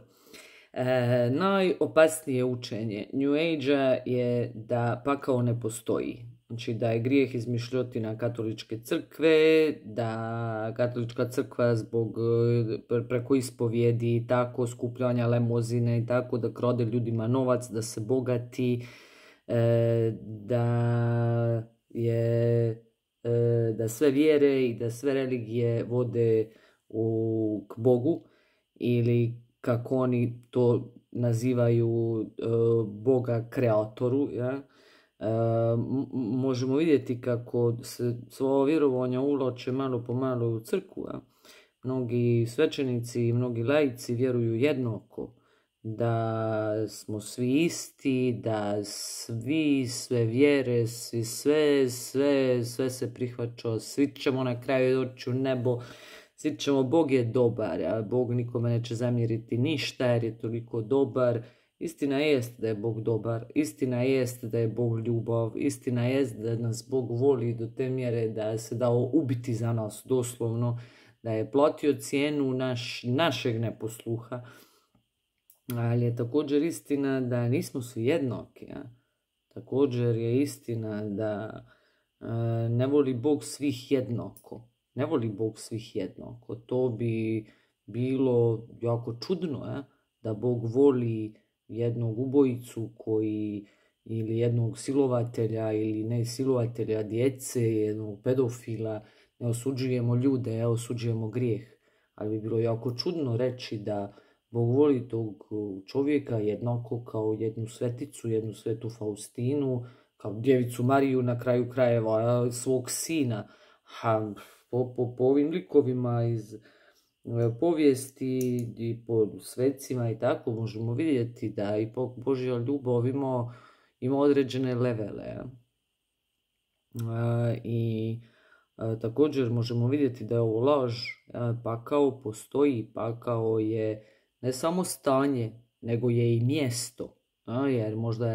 E, najopasnije učenje New Age-a je da pakao ne postoji. Znači da je grijeh izmišljotina katoličke crkve, da katolička crkva zbog preko ispovijedi i tako skupljanja lemozine i tako da krade ljudima novac, da se bogati, e, da je e, da sve vjere i da sve religije vode u, k Bogu ili kako oni to nazivaju e, Boga kreatoru, ja? E, možemo vidjeti kako se svoje vjerovanja uvlače malo po malo u crkvu. Ja? Mnogi svećenici i mnogi laici vjeruju jednako, da smo svi isti, da svi, sve vjere, svi sve, sve, sve se prihvaća, svi ćemo na kraju doći u nebo, svi ćemo, Bog je dobar, a Bog nikome neće zamjeriti ništa jer je toliko dobar. Istina jest da je Bog dobar, istina jest da je Bog ljubav, istina jest da nas Bog voli do te mjere da se dao ubiti za nas doslovno, da je platio cijenu naš, našeg neposluha. Ali je također istina da nismo svi jednaki. Ja? Također je istina da e, ne voli Bog svih jednako. Ne voli Bog svih jednako. To bi bilo jako čudno, ja? Da Bog voli jednog ubojicu koji, ili jednog silovatelja ili ne silovatelja djece, jednog pedofila. Ne osuđujemo ljude, osuđujemo grijeh. Ali bi bilo jako čudno reći da Bog voli tog čovjeka jednako kao jednu sveticu, jednu svetu Faustinu, kao djevicu Mariju na kraju krajeva svog sina. Ha, po, po, po ovim likovima iz povijesti i po svecima i tako možemo vidjeti da i Božja ljubav ima, ima određene levele. Ja? A, I a, također možemo vidjeti da je ovo laž. A, pakao postoji, pakao je ne samo stanje, nego je i mjesto. A, jer možda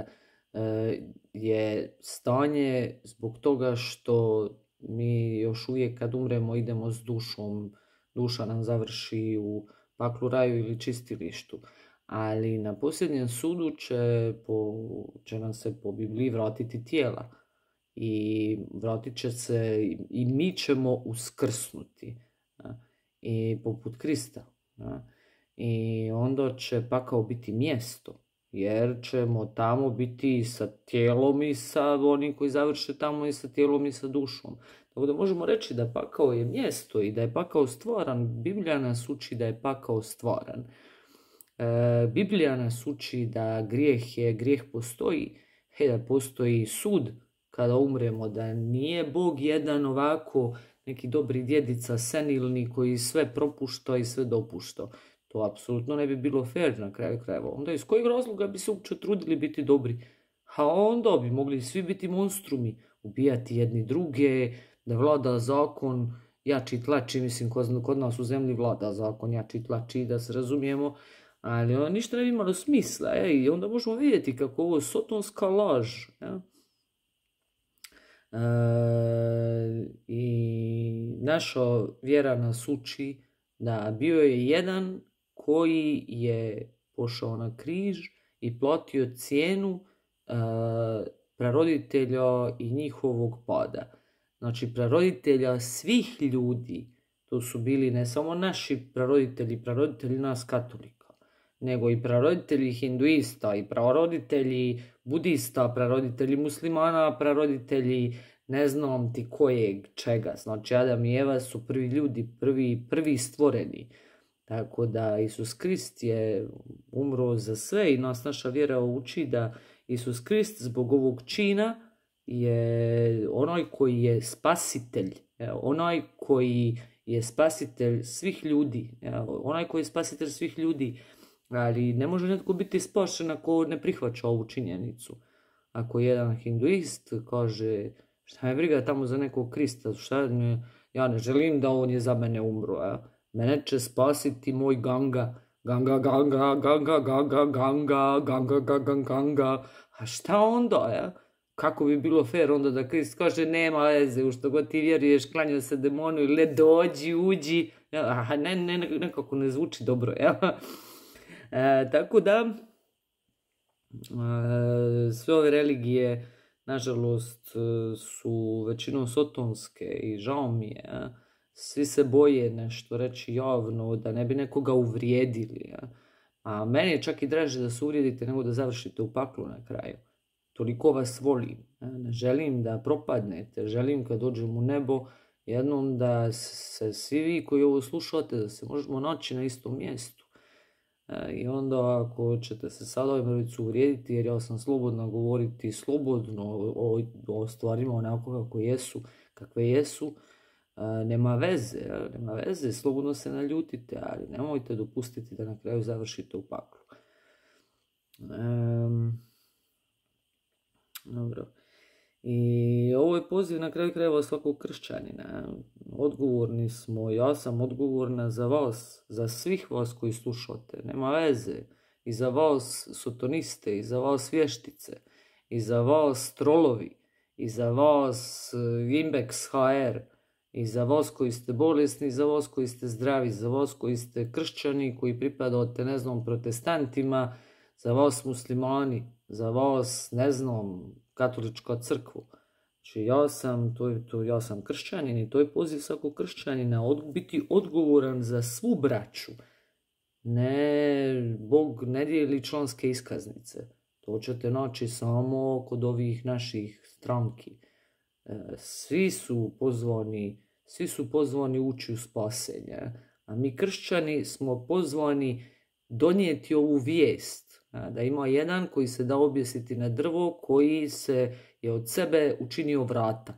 e, je stanje zbog toga što mi još uvijek kad umremo idemo s dušom, duša nam završi u paklu, raju ili čistilištu. Ali na posljednjem sudu će, po, će nam se po Bibliji vratiti tijela. I vratit će se i mi ćemo uskrsnuti. A, i poput Krista. A, I onda će pakao biti mjesto. Jer ćemo tamo biti sa tijelom i sa onim koji završe tamo i sa tijelom i sa dušom. Tako da možemo reći da pakao je mjesto i da je pakao stvaran. Biblija nas uči da je pakao stvaran. E, Biblija nas uči da grijeh je, grijeh postoji. He, da postoji sud kada umremo. Da nije Bog jedan ovako neki dobri djedica senilni koji sve propušta i sve dopušta. To apsolutno ne bi bilo fair na kraju krajeva. Onda iz kojeg razloga bi se uopće trudili biti dobri? A onda bi mogli svi biti monstrumi, ubijati jedni druge, da vlada zakon jači tlači, mislim kod nas u zemlji vlada zakon jači tlači, da se razumijemo, ali ono ništa ne bi imalo smisla. Ja? I onda možemo vidjeti kako ovo je sotonska laž. Ja? E, I naša vjera nas uči da bio je jedan koji je pošao na križ i platio cijenu uh, praroditelja i njihovog pada. Znači, praroditelja svih ljudi, to su bili ne samo naši praroditelji, praroditelji nas katolika, nego i praroditelji hinduista, i praroditelji budista, praroditelji muslimana, praroditelji ne znam ti kojeg čega. Znači, Adam i Eva su prvi ljudi, prvi, prvi stvoreni. Tako da Isus Krist je umro za sve i nas naša vjera uči da Isus Krist zbog ovog čina je onaj koji je spasitelj, onaj koji je spasitelj svih ljudi, onaj koji je spasitelj svih ljudi, ali ne može netko biti spašen ako ne prihvaća ovu činjenicu. Ako jedan hinduist kaže šta me briga tamo za nekog Krista, šta ne, ja ne želim da on je za mene umro, a? Mene će spasiti moj Ganga, Ganga, Ganga, Ganga, Ganga, Ganga, Ganga, Ganga, Ganga. A šta onda, ja? Kako bi bilo fair onda da Krist kaže nema veze, u što god ti vjeruješ, klanjao se demonu ili dođi, uđi. Ja, ne, ne, nekako ne zvuči dobro, ja? E, tako da, e, sve ove religije, nažalost, su većinom sotonske i žao mi je, ja? Svi se boje nešto reći javno, da ne bi nekoga uvrijedili. Ja? A meni je čak i draže da se uvrijedite nego da završite u paklu na kraju. Toliko vas volim. Ja? Ne želim da propadnete. Želim kad dođem u nebo jednom da se svi vi koji ovo slušate, da se možemo naći na istom mjestu. E, I onda ako ćete se sad ovaj mrvicu uvrijediti, jer ja sam slobodna govoriti slobodno o, o stvarima onako kako jesu, kakve jesu, nema veze, nema veze, slobodno se naljutite, ali nemojte dopustiti da na kraju završite u paklu. Um, dobro. I ovo je poziv na kraju krajeva svakog kršćanina. Odgovorni smo, ja sam odgovorna za vas, za svih vas koji slušate, nema veze. I za vas sotoniste, i za vas vještice, i za vas trolovi, i za vas Imbex H R, i za vas koji ste bolesni, i za vas koji ste zdravi, za vas koji ste kršćani, koji pripadate, ne znam, protestantima, za vas muslimani, za vas, ne znam, katolička crkva. Znači ja sam, to je, to, ja sam kršćanin i to je poziv svakog kršćanina, od, biti odgovoran za svu braću. Ne, Bog ne dijeli članske iskaznice. To ćete naći samo kod ovih naših stranki. Svi su pozvani, svi su pozvani ući u spasenje. A mi kršćani smo pozvani donijeti ovu vijest. Da ima jedan koji se da objesiti na drvo, koji se je od sebe učinio vrata.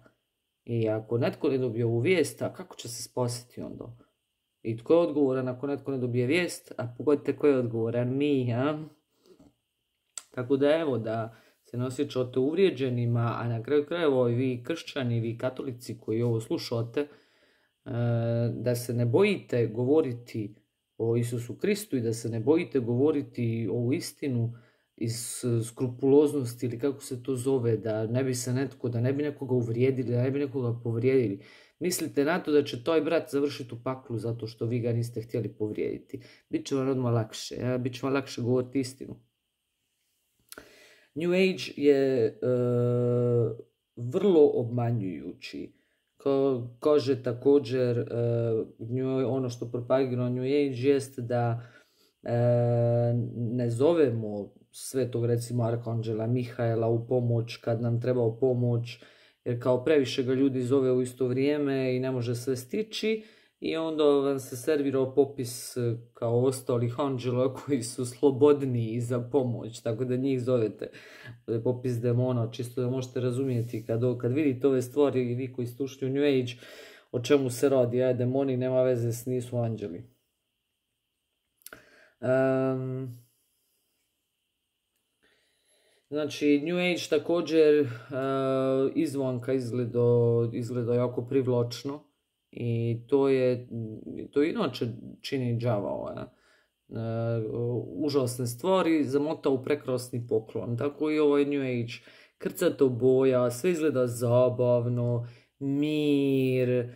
I ako netko ne dobije ovu vijest, a kako će se spasiti onda? I tko je odgovoran ako netko ne dobije vijest? A pogodite ko je odgovoran? Mi, a? Tako da evo, da se ne osjećate uvrijeđenima, a na kraju krajeva vi kršćani, vi katolici koji ovo slušate, da se ne bojite govoriti o Isusu Kristu i da se ne bojite govoriti ovu istinu iz skrupuloznosti ili kako se to zove, da ne bi se netko, da ne bi nekoga uvrijedili, da ne bi nekoga povrijedili. Mislite na to da će taj brat završiti u paklu zato što vi ga niste htjeli povrijediti. Biće vam odmah lakše, ja? Biće vam lakše govoriti istinu. New Age je uh, vrlo obmanjujući. Ko, kaže također, uh, new, ono što propagira New Age jest da uh, ne zovemo svetog, recimo, arkanđela Mihaela u pomoć kad nam treba pomoć, jer kao previše ga ljudi zove u isto vrijeme i ne može sve stići. I onda vam se servirao popis kao ostalih anđela koji su slobodniji za pomoć, tako da njih zovete popis demona, čisto da možete razumijeti kad, kad vidite ove stvari i vi koji ste ušli u New Age, o čemu se radi, aj demoni nema veze s nisu anđeli. Um, znači New Age također uh, izvanka izgleda, izgleda jako privlačno. I to je, to inače čini đavao, e, užasne stvari zamota u prekrasni poklon. Tako i ovaj New Age, krcato boja, sve izgleda zabavno, mir, e,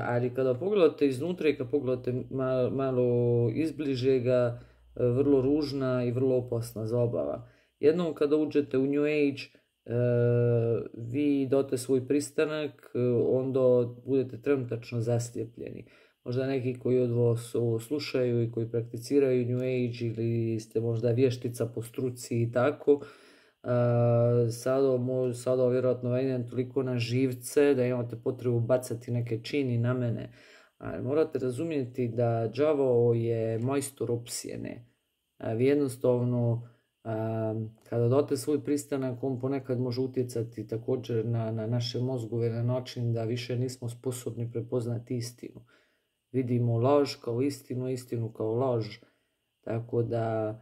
ali kada pogledate iznutra i kada pogledate malo, malo izbliže ga, vrlo ružna i vrlo opasna zabava. Jednom kada uđete u New Age, Uh, vi date svoj pristanak, uh, onda budete trenutačno zaslijepljeni. Možda neki koji od vas ovo slušaju i koji prakticiraju New Age ili ste možda vještica po struci i tako, uh, sada, sada vjerojatno vedem toliko na živce da imate potrebu bacati neke čini na mene. Ali morate razumjeti da đavao je majstor opsjene. Uh, vi jednostavno Um, kada date svoj pristanak, on ponekad može utjecati također na, na naše mozgove na način da više nismo sposobni prepoznati istinu. Vidimo laž kao istinu, istinu kao laž. Tako da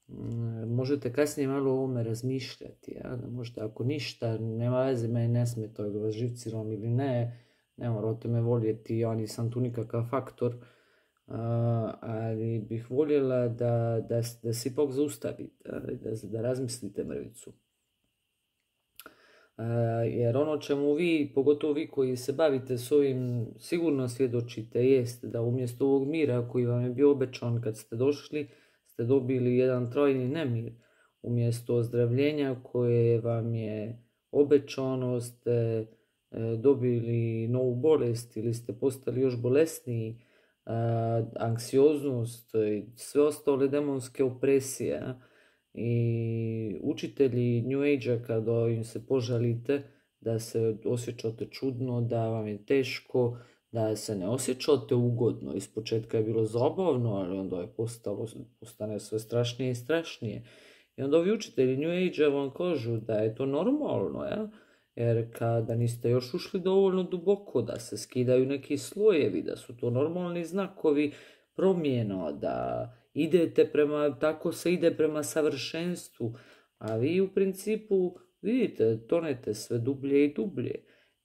um, možete kasnije malo o ovome razmišljati. Ja? Da možete, ako ništa, nema veze, meni ne smeta da vas živciram ili ne, ne morate me voljeti, ja nisam tu nikakav faktor. Uh, ali bih voljela da, da, da se ipak zaustavite, da, da razmislite mrvicu. Uh, jer ono čemu vi, pogotovo vi koji se bavite s ovim, sigurno svjedočite, jest da umjesto ovog mira koji vam je bio obećan kad ste došli, ste dobili jedan trajni nemir. Umjesto ozdravljenja koje vam je obećano, ste e, dobili novu bolest ili ste postali još bolesniji. Uh, anksioznost i sve ostale demonske opresije. I učitelji New Age-a kada im se požalite da se osjećate čudno, da vam je teško, da se ne osjećate ugodno. Ispočetka je bilo zabavno, ali onda je postalo, postane sve strašnije i strašnije. I onda ovi učitelji New Age vam kažu da je to normalno, ja? Jer kada niste još ušli dovoljno duboko, da se skidaju neki slojevi, da su to normalni znakovi promjena, da idete prema, tako se ide prema savršenstvu, a vi u principu vidite, tonete sve dublje i dublje.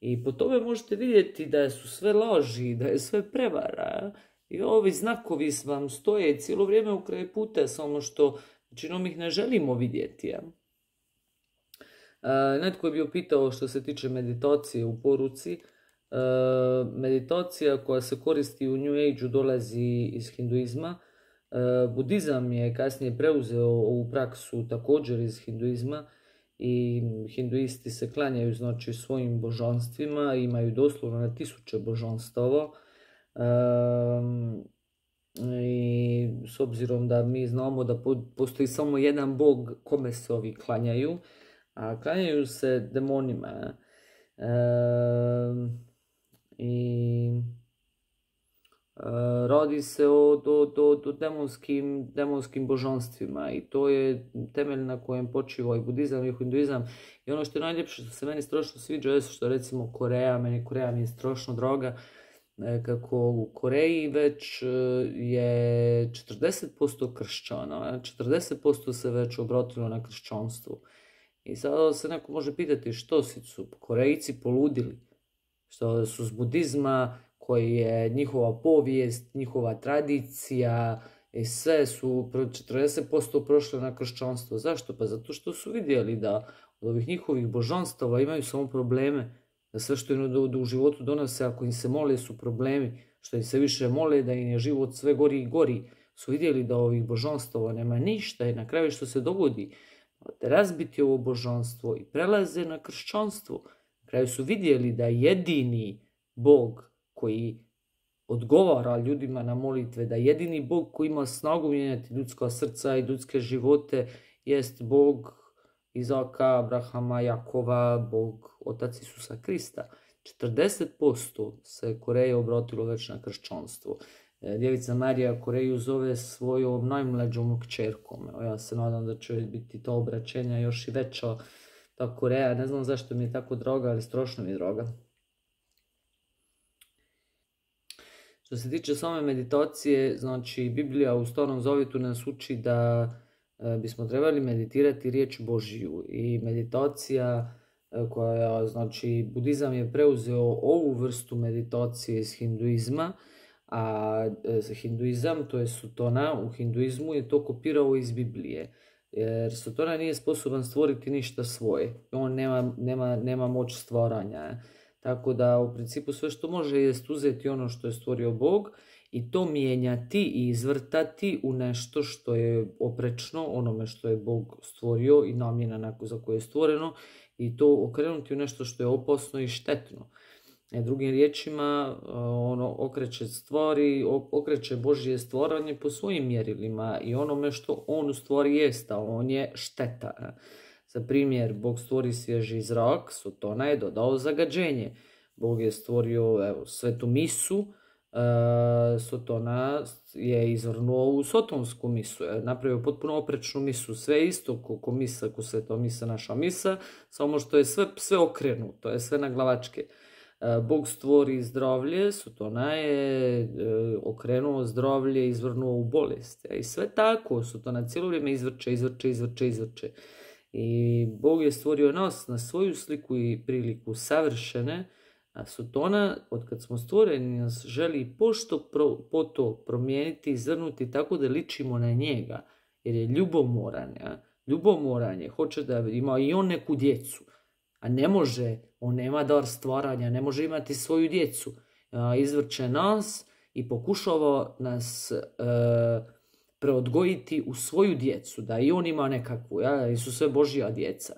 I po tome možete vidjeti da su sve laži, da je sve prevara. I ovi znakovi vam stoje cijelo vrijeme u kraju puta, samo što većinom ih ne želimo vidjeti. Ja? E, netko je bio pitao što se tiče meditacije u poruci. E, meditacija koja se koristi u New Age-u dolazi iz hinduizma. E, budizam je kasnije preuzeo ovu praksu također iz hinduizma. I hinduisti se klanjaju znači svojim božanstvima, imaju doslovno na tisuće božanstava. Um, I s obzirom da mi znamo da postoji samo jedan bog kome se ovi klanjaju, a klanjaju se demonima. Um, I radi se o do, do, do demonskim, demonskim božanstvima i to je temelj na kojem počiva i budizam i hinduizam. I ono što je najljepše, što se meni strašno sviđa, je što recimo Koreja, meni Koreja mi je strašno droga, kako u Koreji već je četrdeset posto kršćana, četrdeset posto se već obratilo na kršćanstvo. I sada se neko može pitati što su Korejci poludili, što su s budizma, koji je njihova povijest, njihova tradicija i sve su četrdeset posto prošle na kršćanstvo. Zašto? Pa zato što su vidjeli da od ovih njihovih božanstava imaju samo probleme, da sve što im do, do u životu donose, ako im se mole, su problemi, što im se više mole, da im je život sve gori i gori. Su vidjeli da ovih božanstava nema ništa i na kraju što se dogodi, da razbiti ovo božanstvo i prelaze na kršćanstvo. Na kraju su vidjeli da jedini Bog koji odgovara ljudima na molitve, da jedini Bog koji ima snagu mijenjati ljudska srca i ljudske živote jest Bog Izaka, Abrahama, Jakova, Bog Otac Isusa Krista. četrdeset posto se Koreje obratilo već na kršćanstvo. Djevica Marija Koreju zove svojom najmlađom kćerkom. Ja se nadam da će biti to obraćenja još i veća. Ta Koreja, ne znam zašto mi je tako droga, ali strašno mi je droga. Što se tiče same meditacije, znači Biblija u Starom Zavjetu nas uči da e, bismo trebali meditirati riječ Božju i meditacija e, koja, znači budizam je preuzeo ovu vrstu meditacije iz hinduizma, a e, hinduizam, to je sutona, u hinduizmu je to kopirao iz Biblije. Jer sutona nije sposoban stvoriti ništa svoje, on nema, nema, nema moć stvaranja. Tako da u principu sve što može jest uzeti ono što je stvorio Bog i to mijenjati i izvrtati u nešto što je oprečno onome što je Bog stvorio i namjena za koje je stvoreno i to okrenuti u nešto što je opasno i štetno. E, drugim riječima, ono okreće stvari, okreće Božje stvaranje po svojim mjerilima i onome što on u stvari jest, a on je šteta. Za primjer, Bog stvori svježi zrak, Sotona je dodao zagađenje. Bog je stvorio evo, svetu misu, uh, Sotona je izvrnuo u sotonsku misu, je napravio potpuno oprečnu misu, sve isto ko misa, ko sveta misa, naša misa, samo što je sve, sve okrenuto, je sve na glavačke. Uh, Bog stvori zdravlje, Sotona je uh, okrenuo zdravlje, izvrnuo u bolest. I sve tako, Sotona cijelo vrijeme izvrče, izvrče, izvrče, izvrče. I Bog je stvorio nas na svoju sliku i priliku savršene, a Sotona, od kad smo stvoreni, nas želi pošto pro, po to promijeniti, izvrnuti tako da ličimo na njega, jer je ljubomoran. Ja? Ljubomoran je, hoće da ima i on neku djecu, a ne može, on nema dar stvaranja, ne može imati svoju djecu. A, izvrće nas i pokušava nas Uh, preodgojiti u svoju djecu, da i on ima nekakvu, ja, i su sve Božja djeca.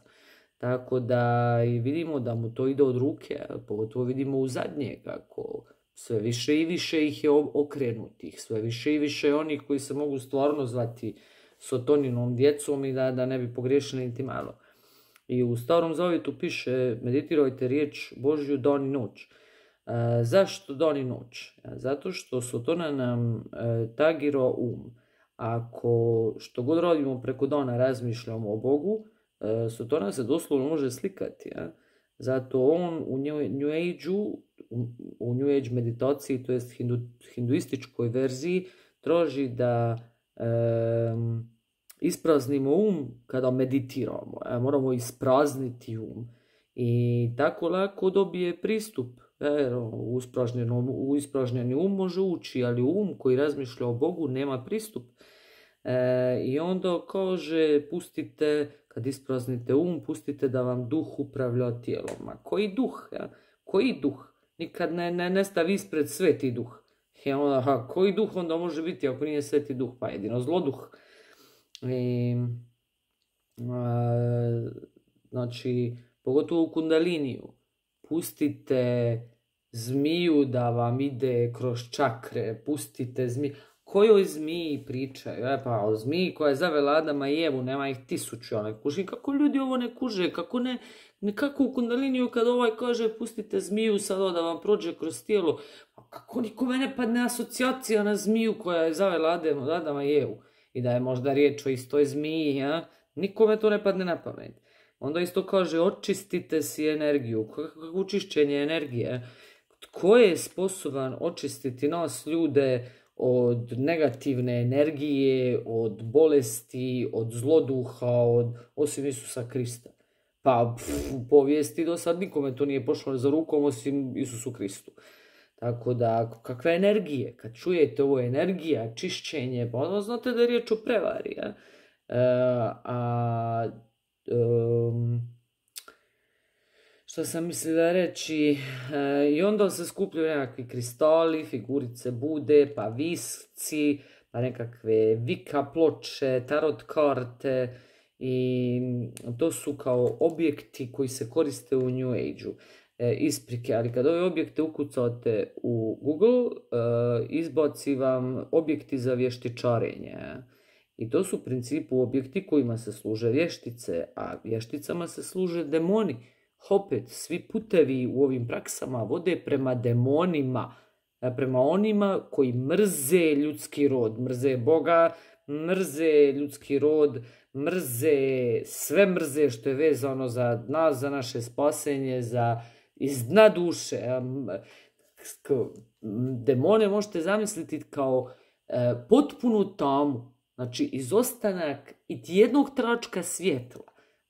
Tako da i vidimo da mu to ide od ruke, pogotovo vidimo u zadnje kako sve više i više ih je okrenutih, sve više i više onih koji se mogu stvarno zvati Sotoninom djecom i da, da ne bi pogriješili niti malo. I u Starom Zavjetu piše meditirajte riječ Božju dan i noć. Zašto dan i noć? Zato što Sotona nam tagiro um. Ako što god radimo preko dana razmišljamo o Bogu, Sotona se doslovno može slikati. Ja? Zato on u New Age-u, u New Age meditaciji, to jest hindu, hinduističkoj verziji, traži da um, ispraznimo um kada meditiramo. Ja? Moramo isprazniti um. I tako lako dobije pristup. Jer u, u ispražnjeni um može ući, ali um koji razmišlja o Bogu nema pristup. E, I onda kaže, pustite, kad ispraznite um, pustite da vam duh upravlja tijelom. A koji duh? Ja? Koji duh? Nikad ne, ne, ne stavi ispred sveti duh. I onda, aha, koji duh onda može biti ako nije sveti duh? Pa jedino zloduh. I, a, znači, pogotovo u kundaliniju. Pustite zmiju da vam ide kroz čakre, pustite zmiju. Kojoj zmiji pričaju? E pa o zmiji koja je zavela Adama i Evu, nema ih tisuću, ne kuži. Kako ljudi ovo ne kuže? Kako ne, nekako u kundaliniju kad ovaj kaže pustite zmiju sada da vam prođe kroz tijelo. Kako nikome ne padne asocijacija na zmiju koja je zavela Adama, Adama i Evu? I da je možda riječ o istoj zmiji, ja? Nikome to ne padne na pamet. Onda isto kaže, očistite si energiju. Kako čišćenje energije? Tko je sposoban očistiti nas ljude od negativne energije, od bolesti, od zloduha, od, osim Isusa Krista? Pa pff, u povijesti do sad nikome to nije pošlo za rukom osim Isusu Kristu. Tako da, kakve energije? Kad čujete ovo energija, čišćenje, pa onda znate da je riječ o prevari. Ja? E, a... Um, što sam mislila reći, e, i onda se skupljaju nekakvi kristali, figurice Bude, pa visci, pa nekakve vika ploče, tarot karte, i to su kao objekti koji se koriste u New Age-u. E, isprike, ali kad ove objekte ukucate u Google, e, izbaci vam objekti za vještičarenje. I to su u principu objekti kojima se služe vještice, a vješticama se služe demoni. Opet, svi putevi u ovim praksama vode prema demonima, prema onima koji mrze ljudski rod, mrze Boga, mrze ljudski rod, mrze, sve mrze što je vezano za nas, za naše spasenje, za iz dna duše. Demone možete zamisliti kao e, potpunu tamu. Znači, izostanak i jednog tračka svjetla.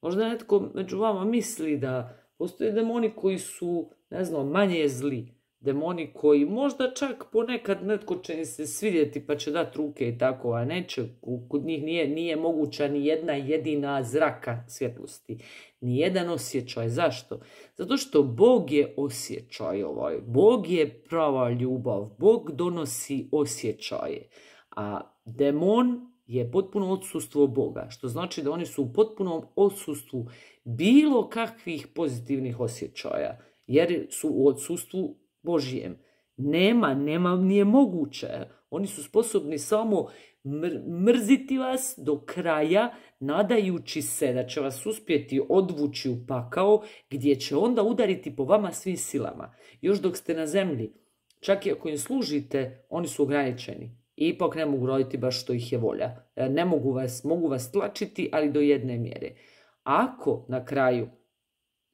Možda netko među vama misli da postoje demoni koji su, ne znam, manje zli. Demoni koji možda čak ponekad netko će se svidjeti pa će dati ruke i tako, a neće. Kod njih nije, nije moguća ni jedna jedina zraka svjetlosti. Ni jedan osjećaj. Zašto? Zato što Bog je osjećaj ovaj. Bog je prava ljubav. Bog donosi osjećaje. A demon je potpuno odsustvo Boga, što znači da oni su u potpunom odsustvu bilo kakvih pozitivnih osjećaja, jer su u odsustvu Božijem. Nema, nema, nije moguće. Oni su sposobni samo mr mrziti vas do kraja, nadajući se da će vas uspjeti odvući u pakao, gdje će onda udariti po vama svim silama. Još dok ste na zemlji, čak i ako im služite, oni su ograničeni. I ipak ne mogu raditi baš što ih je volja. Ne mogu vas, mogu vas tlačiti, ali do jedne mjere. Ako na kraju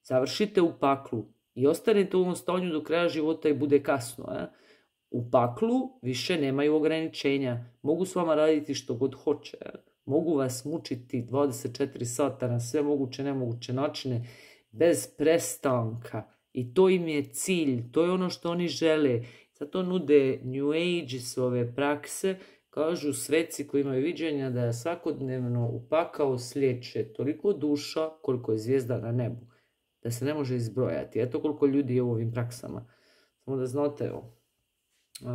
završite u paklu i ostanete u ovom stanju do kraja života i bude kasno, eh? U paklu više nemaju ograničenja. Mogu s vama raditi što god hoće. Eh? Mogu vas mučiti dvadeset četiri sata na sve moguće nemoguće načine bez prestanka. I to im je cilj, to je ono što oni žele. Zato nude New Age i sve ove prakse, kažu sveci koji imaju viđenja da svakodnevno u pakao slijeće toliko duša koliko je zvijezda na nebu. Da se ne može izbrojati. Eto koliko ljudi je u ovim praksama. Samo da znate ovo. Uh,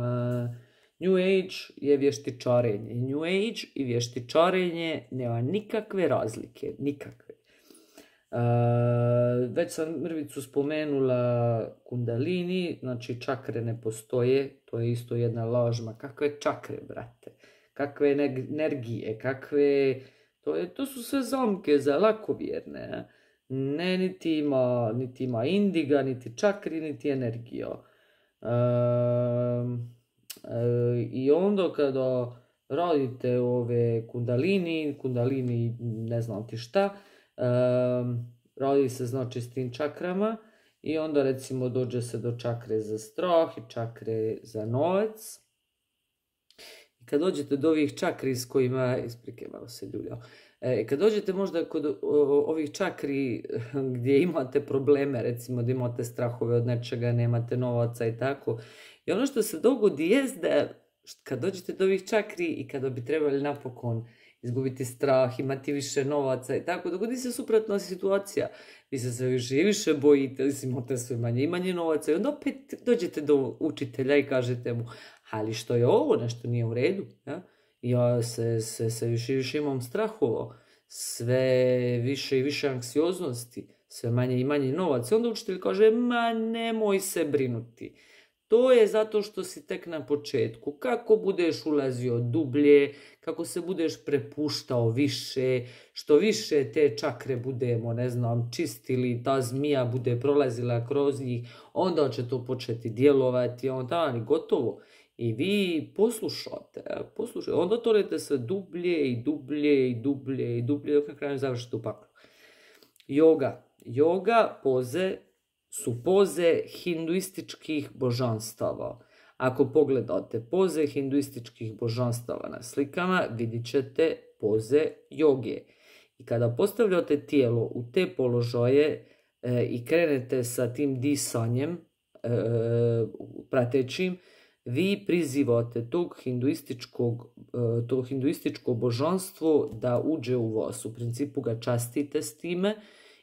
New Age je vještičarenje. New Age i vještičarenje nema nikakve razlike. Nikakve. Uh, već sam mrvicu spomenula kundalini, znači čakre ne postoje, to je isto jedna laž. Ma kakve čakre, brate, kakve energije, kakve, to, je, to su sve zamke za lakovjerne, ne, niti ima, niti ima indiga, niti čakri, niti energija. Um, I onda kada radite ove kundalini, kundalini ne znam ti šta, um, radi se znači s tim čakrama i onda recimo dođe se do čakre za strah i čakre za novac. I kad dođete do ovih čakri s kojima, isprike malo se ljuljao, e, kad dođete možda kod o, ovih čakri gdje imate probleme, recimo da imate strahove od nečega, nemate novaca i tako, i ono što se dogodi jest da kad dođete do ovih čakri i kada bi trebali napokon izgubiti strah, imati više novaca i tako, dogodi se suprotna situacija. Vi se sve više i više bojite, vi imate sve manje i manje novaca i onda opet dođete do učitelja i kažete mu, ali što je ovo, nešto nije u redu. Ja, ja se, se, se više i više imam strahova, sve više i više anksioznosti, sve manje i manje novaca. I onda učitelj kaže, ma nemoj se brinuti. To je zato što si tek na početku. Kako budeš ulazio dublje, kako se budeš prepuštao više, što više te čakre budemo, ne znam, čistili, ta zmija bude prolazila kroz njih, onda će to početi djelovati, onda ali gotovo. I vi poslušate, poslušate, onda torete sve dublje i dublje i dublje i dublje, dok na kraju završite u paklu. Yoga. Yoga poze su poze hinduističkih božanstava. Ako pogledate poze hinduističkih božanstava na slikama, vidit ćete poze joge. I kada postavljate tijelo u te položaje e, i krenete sa tim disanjem e, pratećim, vi prizivate tog hinduističkog, e, to hinduističko božanstvo da uđe u vas. U principu ga častite s time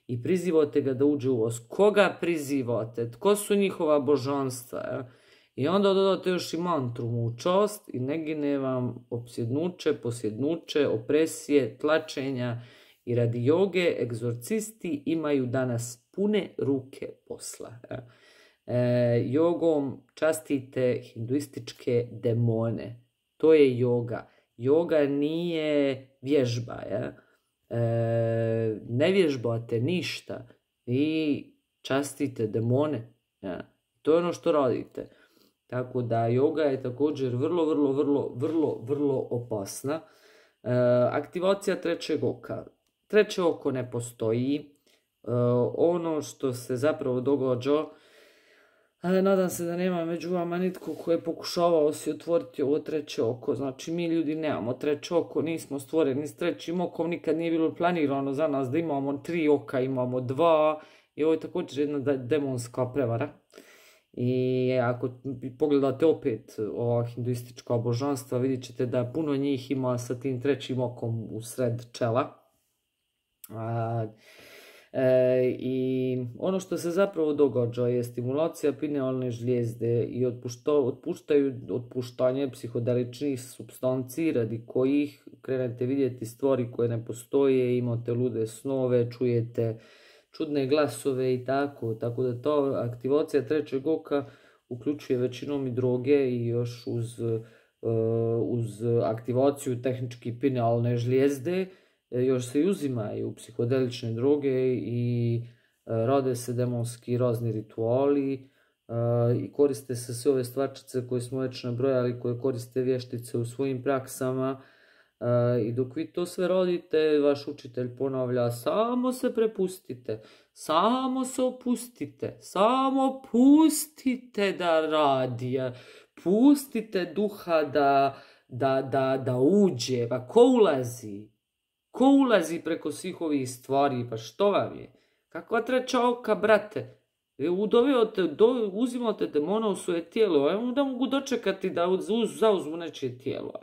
i prizivate ga da uđe u vas. Koga prizivate? Tko su njihova božanstva? Ja? I onda dodate još i mantru mu čast i ne gine vam opsjednuće, posjednuće, opresije, tlačenja. I radi joge egzorcisti imaju danas pune ruke posla. Ja? E, jogom častite hinduističke demone. To je joga. Joga nije vježba. Ja? E, ne vježbate ništa. Vi častite demone. Ja? To je ono što radite. Tako da joga je također vrlo, vrlo, vrlo, vrlo, vrlo opasna. E, aktivacija trećeg oka. Treće oko ne postoji. E, ono što se zapravo događa, e, nadam se da nema među vama nitko koji je pokušavao si otvoriti ovo treće oko. Znači mi ljudi nemamo treće oko, nismo stvoreni s trećim okom, nikad nije bilo planirano za nas da imamo tri oka, imamo dva. I ovo je također jedna demonska prevara. I ako pogledate opet ova hinduistička božanstva, vidjet ćete da puno njih ima sa tim trećim okom u sred čela. A, e, I ono što se zapravo događa je stimulacija pinealne žlijezde i otpušta, otpuštaju, otpuštanje psihodeličnih supstanci radi kojih krenete vidjeti stvari koje ne postoje, imate lude snove, čujete čudne glasove i tako, tako da ta aktivacija trećeg oka uključuje većinom i droge i još uz, uh, uz aktivaciju tehnički pinealne žlijezde još se i uzimaju psihodelične droge i uh, rade se demonski razni rituali uh, i koriste se sve ove stvarčice koje smo već nabrojali, koje koriste vještice u svojim praksama. Uh, I dok vi to sve radite, vaš učitelj ponavlja, samo se prepustite, samo se opustite, samo pustite da radi, pustite duha da, da, da, da uđe. Pa ko ulazi? Ko ulazi preko svih ovih stvari? Pa što vam je? Kakva treća oka, brate? Udovijate, do, uzimate demona u svoje tijelo, ja da mogu dočekati da uz, zauzmu nečije tijelo.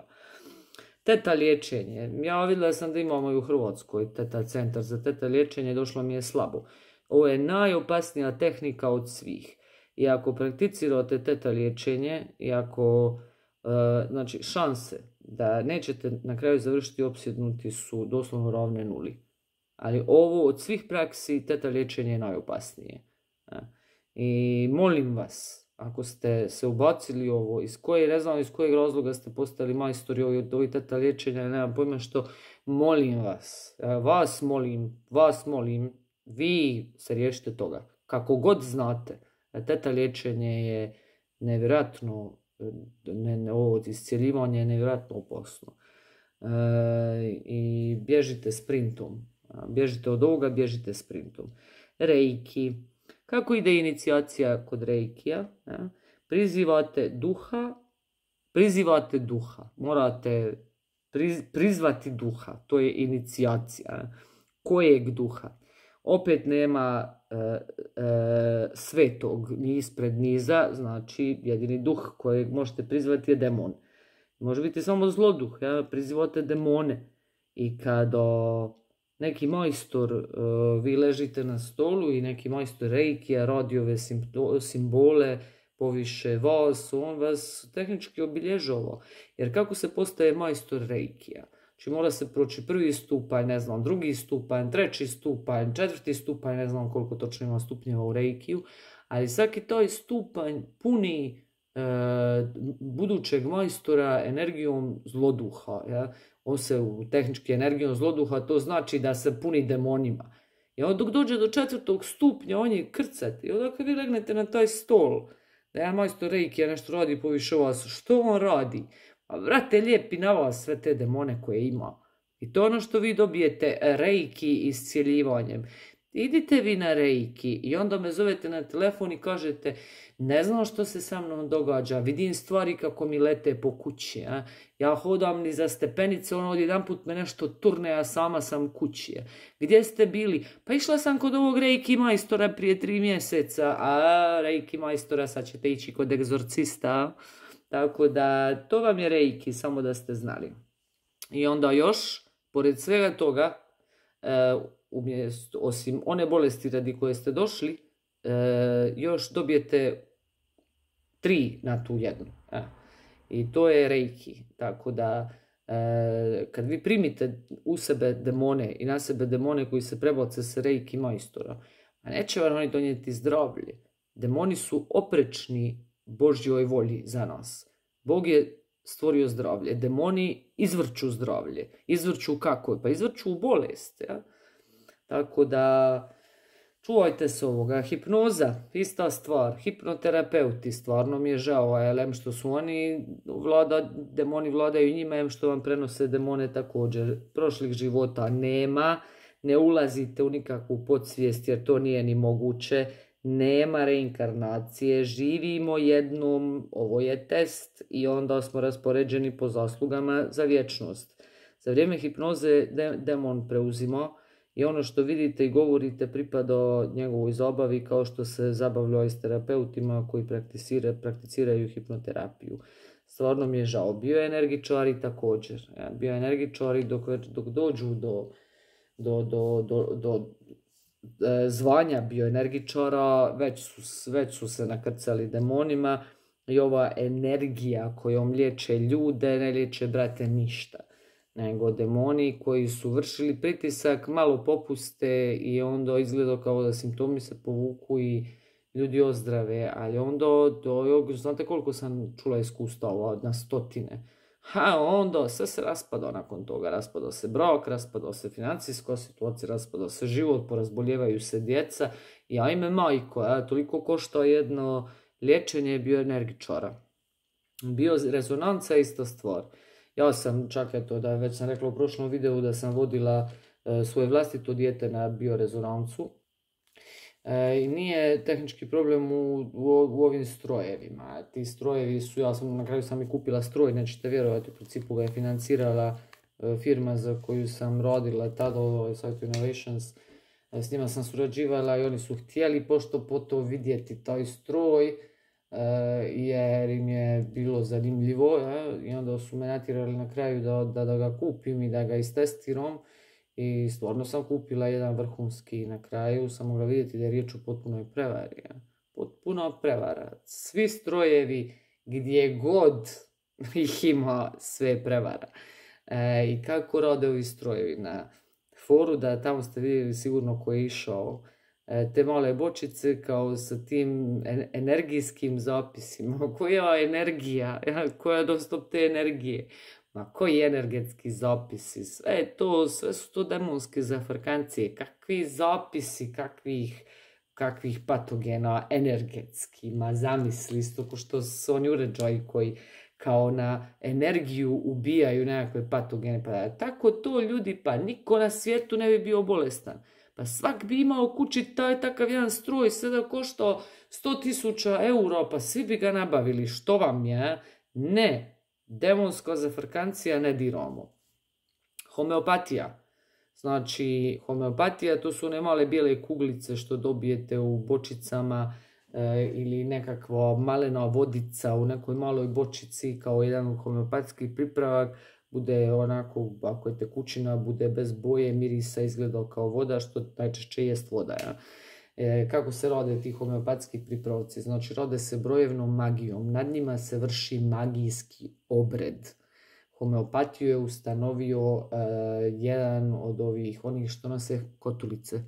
Teta liječenje. Ja vidjela sam da imamo i u Hrvatskoj teta centar za teta liječenje, došlo mi je slabo. Ovo je najopasnija tehnika od svih. I ako prakticirate teta liječenje, i ako, uh, znači, šanse da nećete na kraju završiti opsjednuti su doslovno ravne nuli. Ali ovo od svih praksi, teta liječenje je najopasnije. I molim vas, ako ste se ubacili ovo, iz koje, ne znam iz kojeg razloga ste postali majstori od ovih teta liječenja, nemam pojma što, molim vas, vas molim, vas molim, vi se riješite toga. Kako god znate, teta liječenje je nevjerojatno, ne, ne, ovo iscjeljivanje je nevjerojatno opasno. E, I bježite sprintom. Bježite od ovoga, bježite sprintom. Reiki. Kako ide inicijacija kod reikija? Ja? Prizivate duha, prizivate duha. Morate priz, prizvati duha. To je inicijacija. Ja? Kojeg duha? Opet nema e, e, svetog ni ispred niza, znači jedini duh kojeg možete prizvati je demon. Može biti samo zloduh, ja? Prizivate demone. I kada neki majstor, uh, vi ležite na stolu i neki majstor reikija radi ove simbole poviše vas, on vas tehnički obilježava. Jer kako se postaje majstor reikija? Znači mora se proći prvi stupanj, ne znam, drugi stupanj, treći stupanj, četvrti stupanj, ne znam koliko točno ima stupnjeva u reikiju, ali svaki taj stupanj puni e, budućeg majstora energijom zloduha. Ja? On se u tehnički energijom zloduha, to znači da se puni demonima. I onda dok dođe do četvrtog stupnja, on je krcat. I onda kad vi legnete na taj stol, da ja majstor reikija nešto radi poviše vas, što on radi? Pa vrate, lijepi na vas sve te demone koje ima. I to je ono što vi dobijete reiki iscjeljivanjem. Idite vi na reiki i onda me zovete na telefon i kažete ne znam što se sa mnom događa, vidim stvari kako mi lete po kući. A? Ja hodam ni za stepenice, ono odjedan put me nešto turne, a sama sam kući. Gdje ste bili? Pa išla sam kod ovog reiki majstora prije tri mjeseca, a reiki majstora sad ćete ići kod egzorcista. Tako da to vam je reiki, samo da ste znali. I onda još, pored svega toga, e, umjesto, osim one bolesti radi koje ste došli, e, još dobijete tri na tu jednu. E. I to je reiki. Tako da, e, kad vi primite u sebe demone i na sebe demone koji se prebace sa reiki majstora, a neće vam oni donijeti zdravlje. Demoni su oprečni Božjoj volji za nas. Bog je stvorio zdravlje. Demoni izvrću zdravlje. Izvrću kako? Pa izvrću bolest. Ja? Tako da čuvajte se ovoga. Hipnoza, ista stvar. Hipnoterapeuti, stvarno mi je žao, em što su oni, vlada, demoni vladaju njima, em što vam prenose demone također. Prošlih života nema, ne ulazite u nikakvu podsvijest jer to nije ni moguće. Nema reinkarnacije, živimo jednom, ovo je test i onda smo raspoređeni po zaslugama za vječnost. Za vrijeme hipnoze de, demon preuzima i ono što vidite i govorite pripada njegovoj zabavi kao što se zabavljaju s terapeutima koji prakticira, prakticiraju hipnoterapiju. Stvarno mi je žao. Bioenergičari također. Ja, bioenergičari dok, dok dođu do, do, do, do, do zvanja bioenergičara, već su, već su se nakrcali demonima i ova energija kojom liječe ljude, ne liječe, brate, ništa. Nego demoni koji su vršili pritisak, malo popuste i onda izgleda kao da simptomi se povuku i ljudi ozdrave, ali onda, do, znate koliko sam čula iskustava, na stotine. Ha, onda sve se raspada nakon toga, raspada se brak, raspada se financijska situacija, raspada se život, porazboljevaju se djeca i ajme majko, a, toliko košta jedno liječenje bioenergičara. Biorezonanca je ista stvar. Ja sam, čak eto, da već sam rekla u prošlom videu da sam vodila e, svoje vlastito dijete na biorezonancu. E, I nije tehnički problem u, u, u ovim strojevima. Ti strojevi su, ja sam na kraju sam i kupila stroj, nećete vjerovati, u principu ga je financirala e, firma za koju sam rodila tada, Site Innovations. E, s njima sam surađivala i oni su htjeli pošto po to vidjeti taj stroj, e, jer im je bilo zanimljivo, e, i onda su me natjerali na kraju da, da, da ga kupim i da ga istestiram. I stvarno sam kupila jedan vrhunski na kraju, samo ga vidjeti da je riječ o potpunoj prevari. Ja. Potpuno prevara. Svi strojevi gdje god ih ima, sve prevara. E, I kako rade ovi strojevi? Na foru, da tamo ste vidjeli sigurno ko je išao, e, te male bočice kao sa tim energijskim zapisima. Koja energija? Koja dostop te energije? Ma koji energetski zapisi, sve to, sve su to demonske zafrkancije, kakvi zapisi, kakvih kakvih patogena energetski, ma zamisli, isto ko što su oni uređaji koji kao na energiju ubijaju nekakve patogene. Pa tako to ljudi, pa niko na svijetu ne bi bio bolestan. Pa svak bi imao kući taj takav jedan stroj, sada koštao sto tisuća eura, pa svi bi ga nabavili. Što vam je? Ne. Demonska zafrkancija ne diramo. Homeopatija. Znači, homeopatija to su one male bijele kuglice što dobijete u bočicama e, ili nekakva malena vodica u nekoj maloj bočici kao jedan homeopatski pripravak. Bude onako, ako je tekućina, bude bez boje, mirisa, izgleda kao voda, što najčešće jest voda. Ja? E, kako se rode ti homeopatski pripravci? Znači, rode se brojevnom magijom. Nad njima se vrši magijski obred. Homeopatiju je ustanovio uh, jedan od ovih, onih što nose kotulice,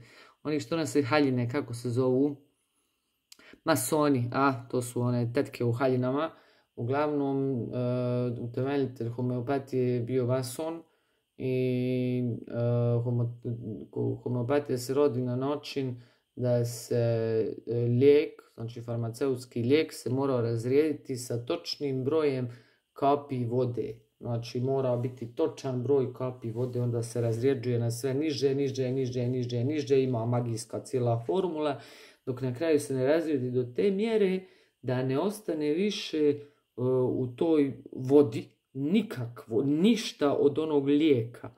onih što nose haljine, kako se zovu? Masoni, a to su one tetke u haljinama. Uglavnom, uh, utemeljitelj homeopatije je bio mason i uh, homo, homeopatija se rodi na način da se uh, lijek, znači farmaceutski lijek, se mora razrijediti sa točnim brojem kapi vode. Znači mora biti točan broj kapi vode, onda se razrijeđuje na sve niže, niže, niže, niže, niže, ima magijska cijela formula, dok na kraju se ne razrijedi do te mjere da ne ostane više uh, u toj vodi nikakvo, ništa od onog lijeka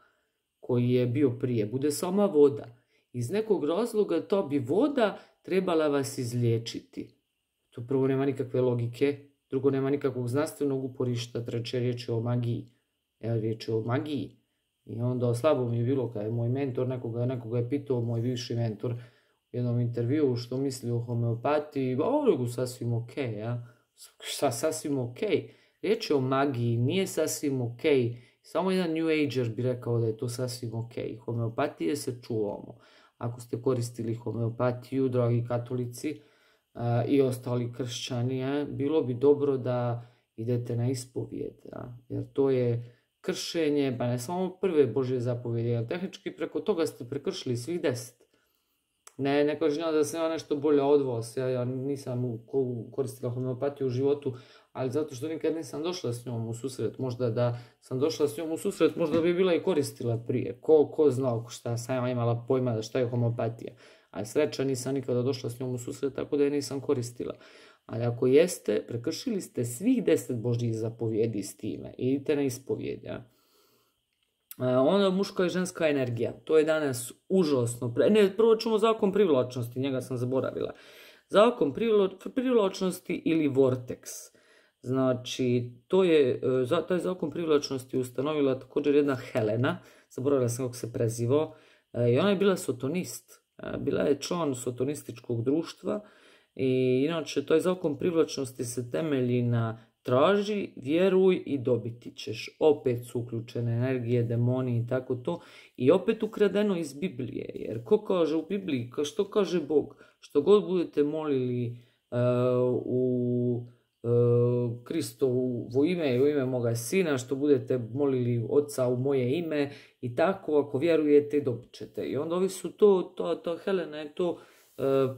koji je bio prije, bude sama voda. Iz nekog razloga to bi voda trebala vas izliječiti. To prvo nema nikakve logike. Drugo, nema nikakvog znanstvenog uporišta, treće riječ je o magiji. Evo, riječ je o magiji. I onda slabo mi je bilo kada je moj mentor, nekoga, nekoga je pitao, moj bivši mentor, u jednom intervjuu što misli o homeopatiji, ovo sasvim ok, ja. Šta sasvim ok? Riječ je o magiji, nije sasvim ok. Samo jedan New Ager bi rekao da je to sasvim ok. Homeopatije se čuvamo. Ako ste koristili homeopatiju, dragi katolici, Uh, i ostali kršćani, je, bilo bi dobro da idete na ispovijed, ja? Jer to je kršenje, pa ne samo prve Božje zapovjede, jer tehnički preko toga ste prekršili svih deset. Ne, ne kažem da sam ja nešto bolje od vas, ja, ja nisam koristila homeopatiju u životu, ali zato što nikad nisam došla s njom u susret, možda da sam došla s njom u susret, možda bi bila i koristila prije, ko, ko znao šta sam ja imala pojma da šta je homeopatija. Ali sreća nisam nikada došla s njom u susret, tako da je nisam koristila. Ali ako jeste, prekršili ste svih deset Božjih zapovjedi s time. Idite na ispovijed. Ja? Onda muška i ženska energija. To je danas užasno. Ne, prvo ćemo zakon privlačnosti, njega sam zaboravila. Zakon privlačnosti ili vortex. Znači, to je, taj zakon privlačnosti ustanovila također jedna Helena, zaboravila sam kako se prezivo, i ona je bila sotonist. Bila je član sotonističkog društva i inače taj zakon privlačnosti se temelji na traži, vjeruj i dobiti ćeš. Opet su uključene energije, demoni i tako to. I opet ukradeno iz Biblije. Jer ko kaže u Bibliji, što kaže Bog? Što god budete molili uh, u uh, Kristovo ime i u ime moga sina, što budete molili Oca u moje ime i tako, ako vjerujete, dobit ćete. I onda ovi su to, to, to Helena je to uh,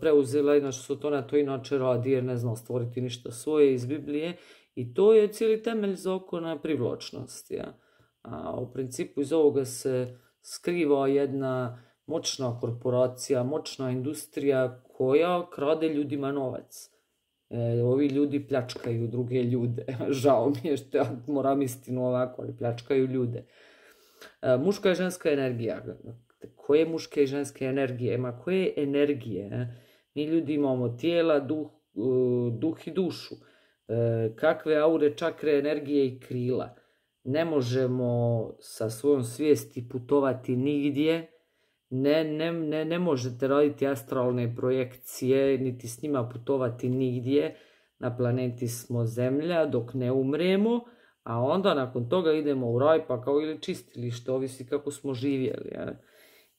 preuzela, inače su to na to inače radi, jer ne zna stvoriti ništa svoje iz Biblije. I to je cijeli temelj zakona privlačnosti. Ja? A u principu iz ovoga se skriva jedna moćna korporacija, moćna industrija koja krade ljudima novac. E, ovi ljudi pljačkaju druge ljude. Žao mi je što ja moram istinu ovako, ali pljačkaju ljude. E, muška i ženska energija. Koje muške i ženske energije? Ma koje energije? Mi ljudi imamo tijela, duh, duh i dušu. E, kakve aure, čakre, energije i krila. Ne možemo sa svojom svijesti putovati nigdje. Ne, ne, ne, ne možete raditi astralne projekcije, niti s njima putovati nigdje. Na planeti smo Zemlja dok ne umremo, a onda nakon toga idemo u raj, pa kao ili čistilište, ovisi kako smo živjeli. Ja.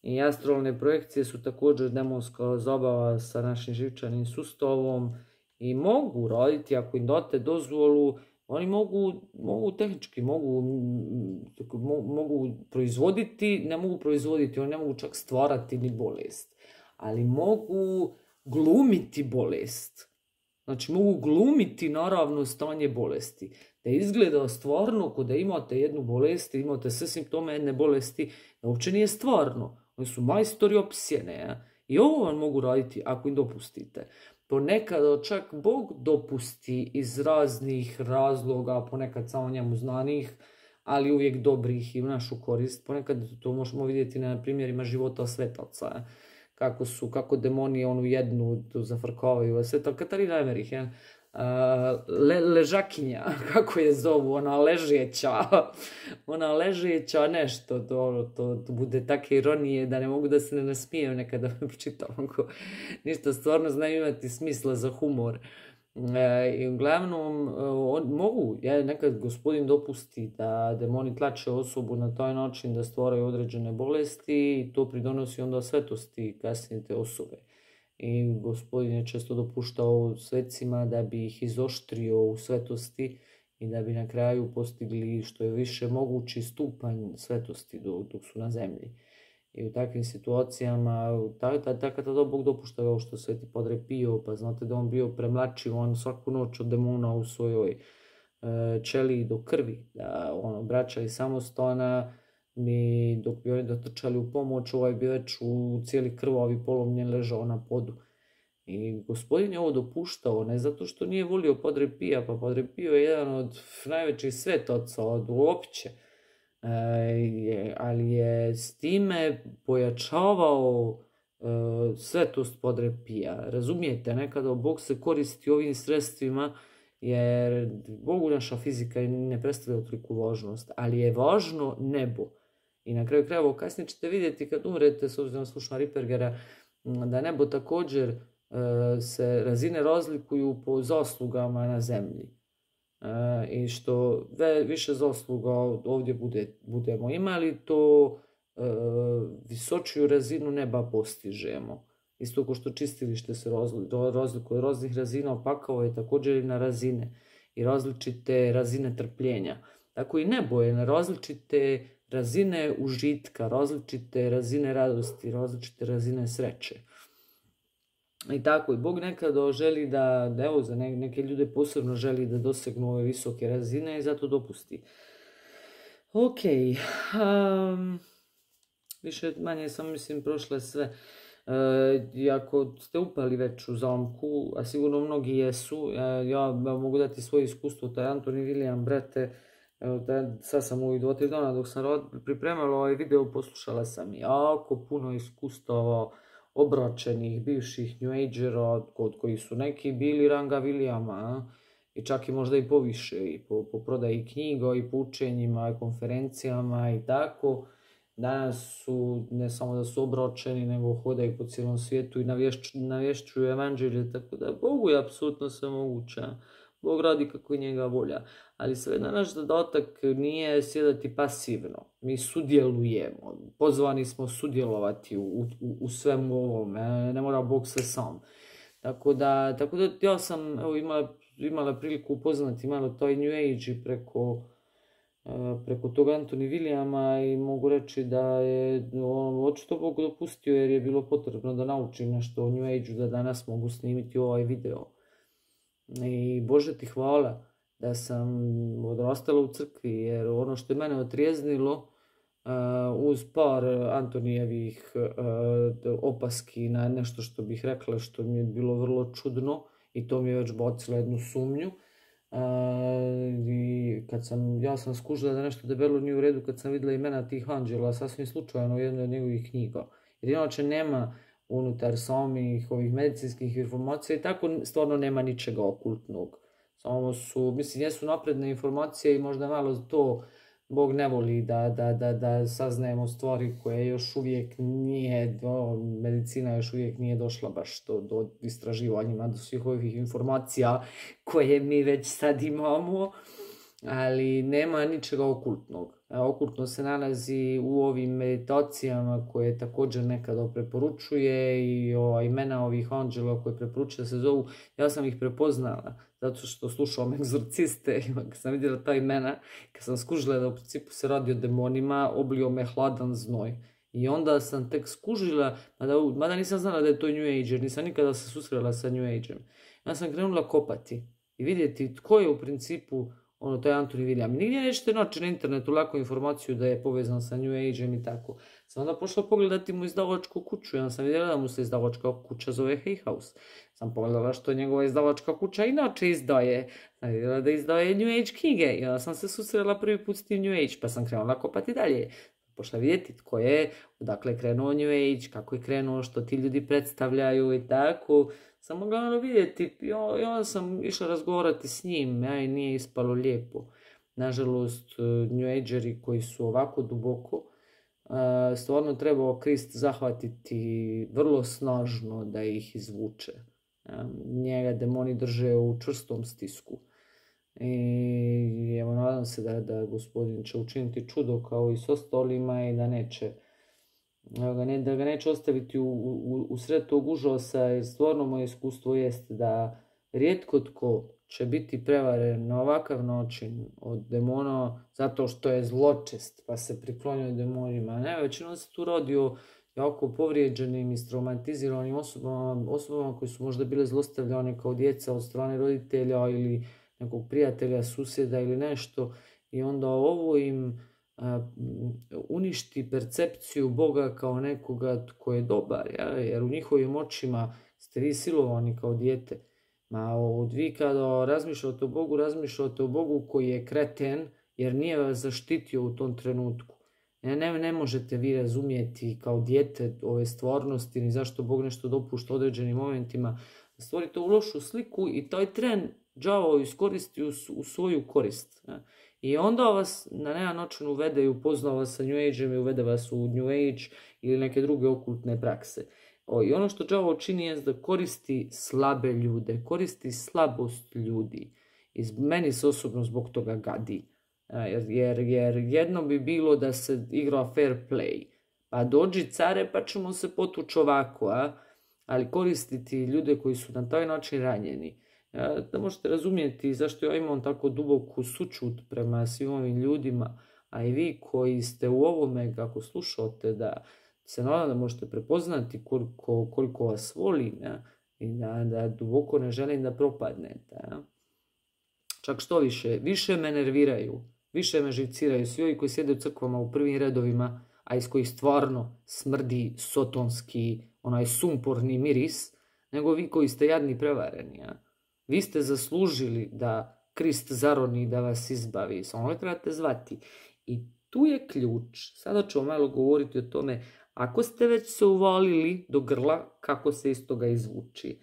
I astralne projekcije su također demonska zabava sa našim živčanim sustavom i mogu raditi ako im date dozvolu. Oni mogu, mogu tehnički, mogu, mogu proizvoditi, ne mogu proizvoditi, oni ne mogu čak stvarati ni bolest. Ali mogu glumiti bolest. Znači mogu glumiti naravno stanje bolesti. Da izgleda stvarno ko da imate jednu bolest, imate sve simptome jedne bolesti, da uopće nije stvarno. Oni su majstori opsjene. Ja? I ovo vam mogu raditi ako im dopustite. Ponekad čak Bog dopusti iz raznih razloga, ponekad samo njemu znanih, ali uvijek dobrih i u našu korist. Ponekad to možemo vidjeti na primjerima života svetaca. Kako su, kako demoni onu jednu zafrkavaju. Sveta Katarina Emerich, ja? Le, ležakinja, kako je zovu, ona ležeća, ona ležeća nešto, to, to, to bude take ironije da ne mogu da se ne nasmijem nekada pročitam, ništa stvarno znaju imati smisla za humor. E, I uglavnom on, mogu, ja, nekad gospodin dopusti da demoni tlače osobu na taj način da stvaraju određene bolesti i to pridonosi onda svetosti kasnije te osobe. I gospodin je često dopuštao svecima da bi ih izoštrio u svetosti i da bi na kraju postigli što je više mogući stupanj svetosti dok su na zemlji. I u takvim situacijama, tako da Bog dopušta kao što Sveti Padre Pio, pa znate da on bio premlačiv, on svaku noć od demona u svojoj e, ćeliji do krvi, da on obraća i samostana, mi dok bi oni dotrčali u pomoć, ovaj bi već u cijeli krvavi polomljen ležao na podu. I gospodin je ovo dopuštao, ne zato što nije volio Padre Pija, pa Padre Pio je jedan od najvećih svetaca, od uopće. E, ali je s time pojačavao e, svetost Padre Pija. Razumijete, nekada Bog se koristi ovim sredstvima jer Bogu naša fizika ne predstavlja toliku važnost, ali je važno nebo. I na kraju krajeva kasnije ćete vidjeti kad umrete, s obzirom na slušna Rippergera, da nebo također e, se razine razlikuju po zaslugama na zemlji. E, I što ve, više zasluga ovdje bude, budemo imali, to e, visočiju razinu neba postižemo. Isto kao što čistilište se razlikuje od raznih razina, pakao je također i na razine i različite razine trpljenja. Tako i nebo je na različite razine užitka, različite razine radosti, različite razine sreće. I tako, i Bog nekada želi da, da evo, za neke ljude posebno želi da dosegnu ove visoke razine i zato dopusti. Ok, um, više manje sam, mislim, prošle sve. E, ako ste upali već u zamku, a sigurno mnogi jesu, ja, ja mogu dati svoje iskustvo, taj Anthony William, brate, da, sad sam u dva tri dana dok sam pripremala ovaj video, poslušala sam jako puno iskustava obračenih bivših New Agera, kod kojih su neki bili ranga Williama, i čak i možda i poviše, i po, po prodaji knjiga, i po učenjima, i konferencijama i tako. Danas su, ne samo da su obračeni, nego hodaju po cijelom svijetu i navješćuju, navješćuju evanđelje, tako da Bogu je apsolutno sve moguće. Bog radi kako je njega volja. Ali sve na naš zadatak nije sjedati pasivno. Mi sudjelujemo. Pozvani smo sudjelovati u, u, u svemu ovome. Ne mora Bog sve sam. Tako da, tako da ja sam evo, imala, imala priliku upoznati malo taj New Age preko, preko tog Anthony Williama i mogu reći da je on očito Bog dopustio jer je bilo potrebno da naučim nešto o New Age-u da danas mogu snimiti ovaj video. I Bože ti hvala da sam odrastala u crkvi, jer ono što je mene otrijeznilo uh, uz par Antonijevih uh, opaski na nešto što bih rekla što mi je bilo vrlo čudno i to mi je već bacilo jednu sumnju. Uh, i kad sam, ja sam skužila da nešto debelo nije u redu kad sam vidjela imena tih anđela sasvim slučajno u jednoj od njegovih knjiga. Jer inače nema unutar samih ovih medicinskih informacija i tako stvarno nema ničega okultnog. Samo su, mislim, jesu napredne informacije i možda malo to Bog ne voli da, da, da, da saznajemo stvari koje još uvijek nije, do, medicina još uvijek nije došla baš do, do istraživanjima, do svih ovih informacija koje mi već sad imamo, ali nema ničega okultnog. Okultno se nalazi u ovim meditacijama koje također nekada preporučuje i ova imena ovih anđela koje preporučuje se zovu, ja sam ih prepoznala zato što slušam egzorciste i kad sam vidjela ta imena, kad sam skužila da u principu se radi o demonima, oblio me hladan znoj I onda sam tek skužila, mada, mada nisam znala da je to New Age, jer nisam nikada se susrela sa New Age-em. Ja sam krenula kopati i vidjeti tko je u principu ono, to je Anthony William. Nigdje nećete naći na internetu lako informaciju da je povezan sa New Age-em i tako. Sam onda pošla pogledati mu izdavačku kuću. Ja sam vidjela da mu se izdavačka kuća zove Hay House. Sam pogledala što njegova izdavačka kuća inače izdaje. Sam vidjela da izdaje New Age knjige. I onda sam se susrela prvi put s tim New Age, pa sam krenula kopati dalje. Pošla vidjeti tko je, odakle je krenuo New Age, kako je krenuo, što ti ljudi predstavljaju i tako. Sam mogla vidjeti i onda sam išla razgovarati s njim, ja i nije ispalo lijepo. Nažalost, New Ageri koji su ovako duboko, stvarno trebao Krist zahvatiti vrlo snažno da ih izvuče. Njega demoni drže u čvrstom stisku. I evo, nadam se da, da gospodin će učiniti čudo kao i s ostalima i da neće da, ne, da ga neće ostaviti u, u, u sred tog užasa, jer stvarno moje iskustvo jest da rijetko tko će biti prevaren na ovakav način od demona zato što je zločest pa se priklonio demonima. Ne, većinom se tu radi o jako povrijeđenim i traumatiziranim osobama, osobama koji su možda bile zlostavljane kao djeca od strane roditelja ili nekog prijatelja, susjeda ili nešto, i onda ovo im a, uništi percepciju Boga kao nekoga tko je dobar, ja? Jer u njihovim očima ste vi silovani kao dijete. Ma od vi kada razmišljate o Bogu, razmišljate o Bogu koji je kreten jer nije vas zaštitio u tom trenutku. Ne, ne, ne možete vi razumijeti kao dijete ove stvarnosti ni zašto Bog nešto dopušta u određenim momentima. Stvorite u lošu sliku i taj tren đavo iskoristi u, u svoju korist. Ne? I onda vas na jedan način uvede i upozna vas sa New Age-em i uvede vas u New Age ili neke druge okultne prakse. O, I ono što đavo čini je da koristi slabe ljude, koristi slabost ljudi. I meni se osobno zbog toga gadi. Jer, jer, jer jedno bi bilo da se igra fair play. Pa dođi care pa ćemo se potući ovako, a? Ali koristiti ljude koji su na taj način ranjeni. Da možete razumjeti zašto ja imam tako duboku sućut prema svim ovim ljudima, a i vi koji ste u ovome, kako slušate, da se nadam da možete prepoznati koliko, koliko vas volim, ja? I da, da duboko ne želim da propadnete. Ja? Čak što više, više me nerviraju, više me živciraju svi ovi koji sjede u crkvama u prvim redovima, a iz kojih stvarno smrdi sotonski, onaj sumporni miris, nego vi koji ste jadni prevareni. Ja? Vi ste zaslužili da Krist zaroni da vas izbavi, samo ne trebate zvati. I tu je ključ. Sada ću malo govoriti o tome, ako ste već se uvalili do grla, kako se iz toga izvući.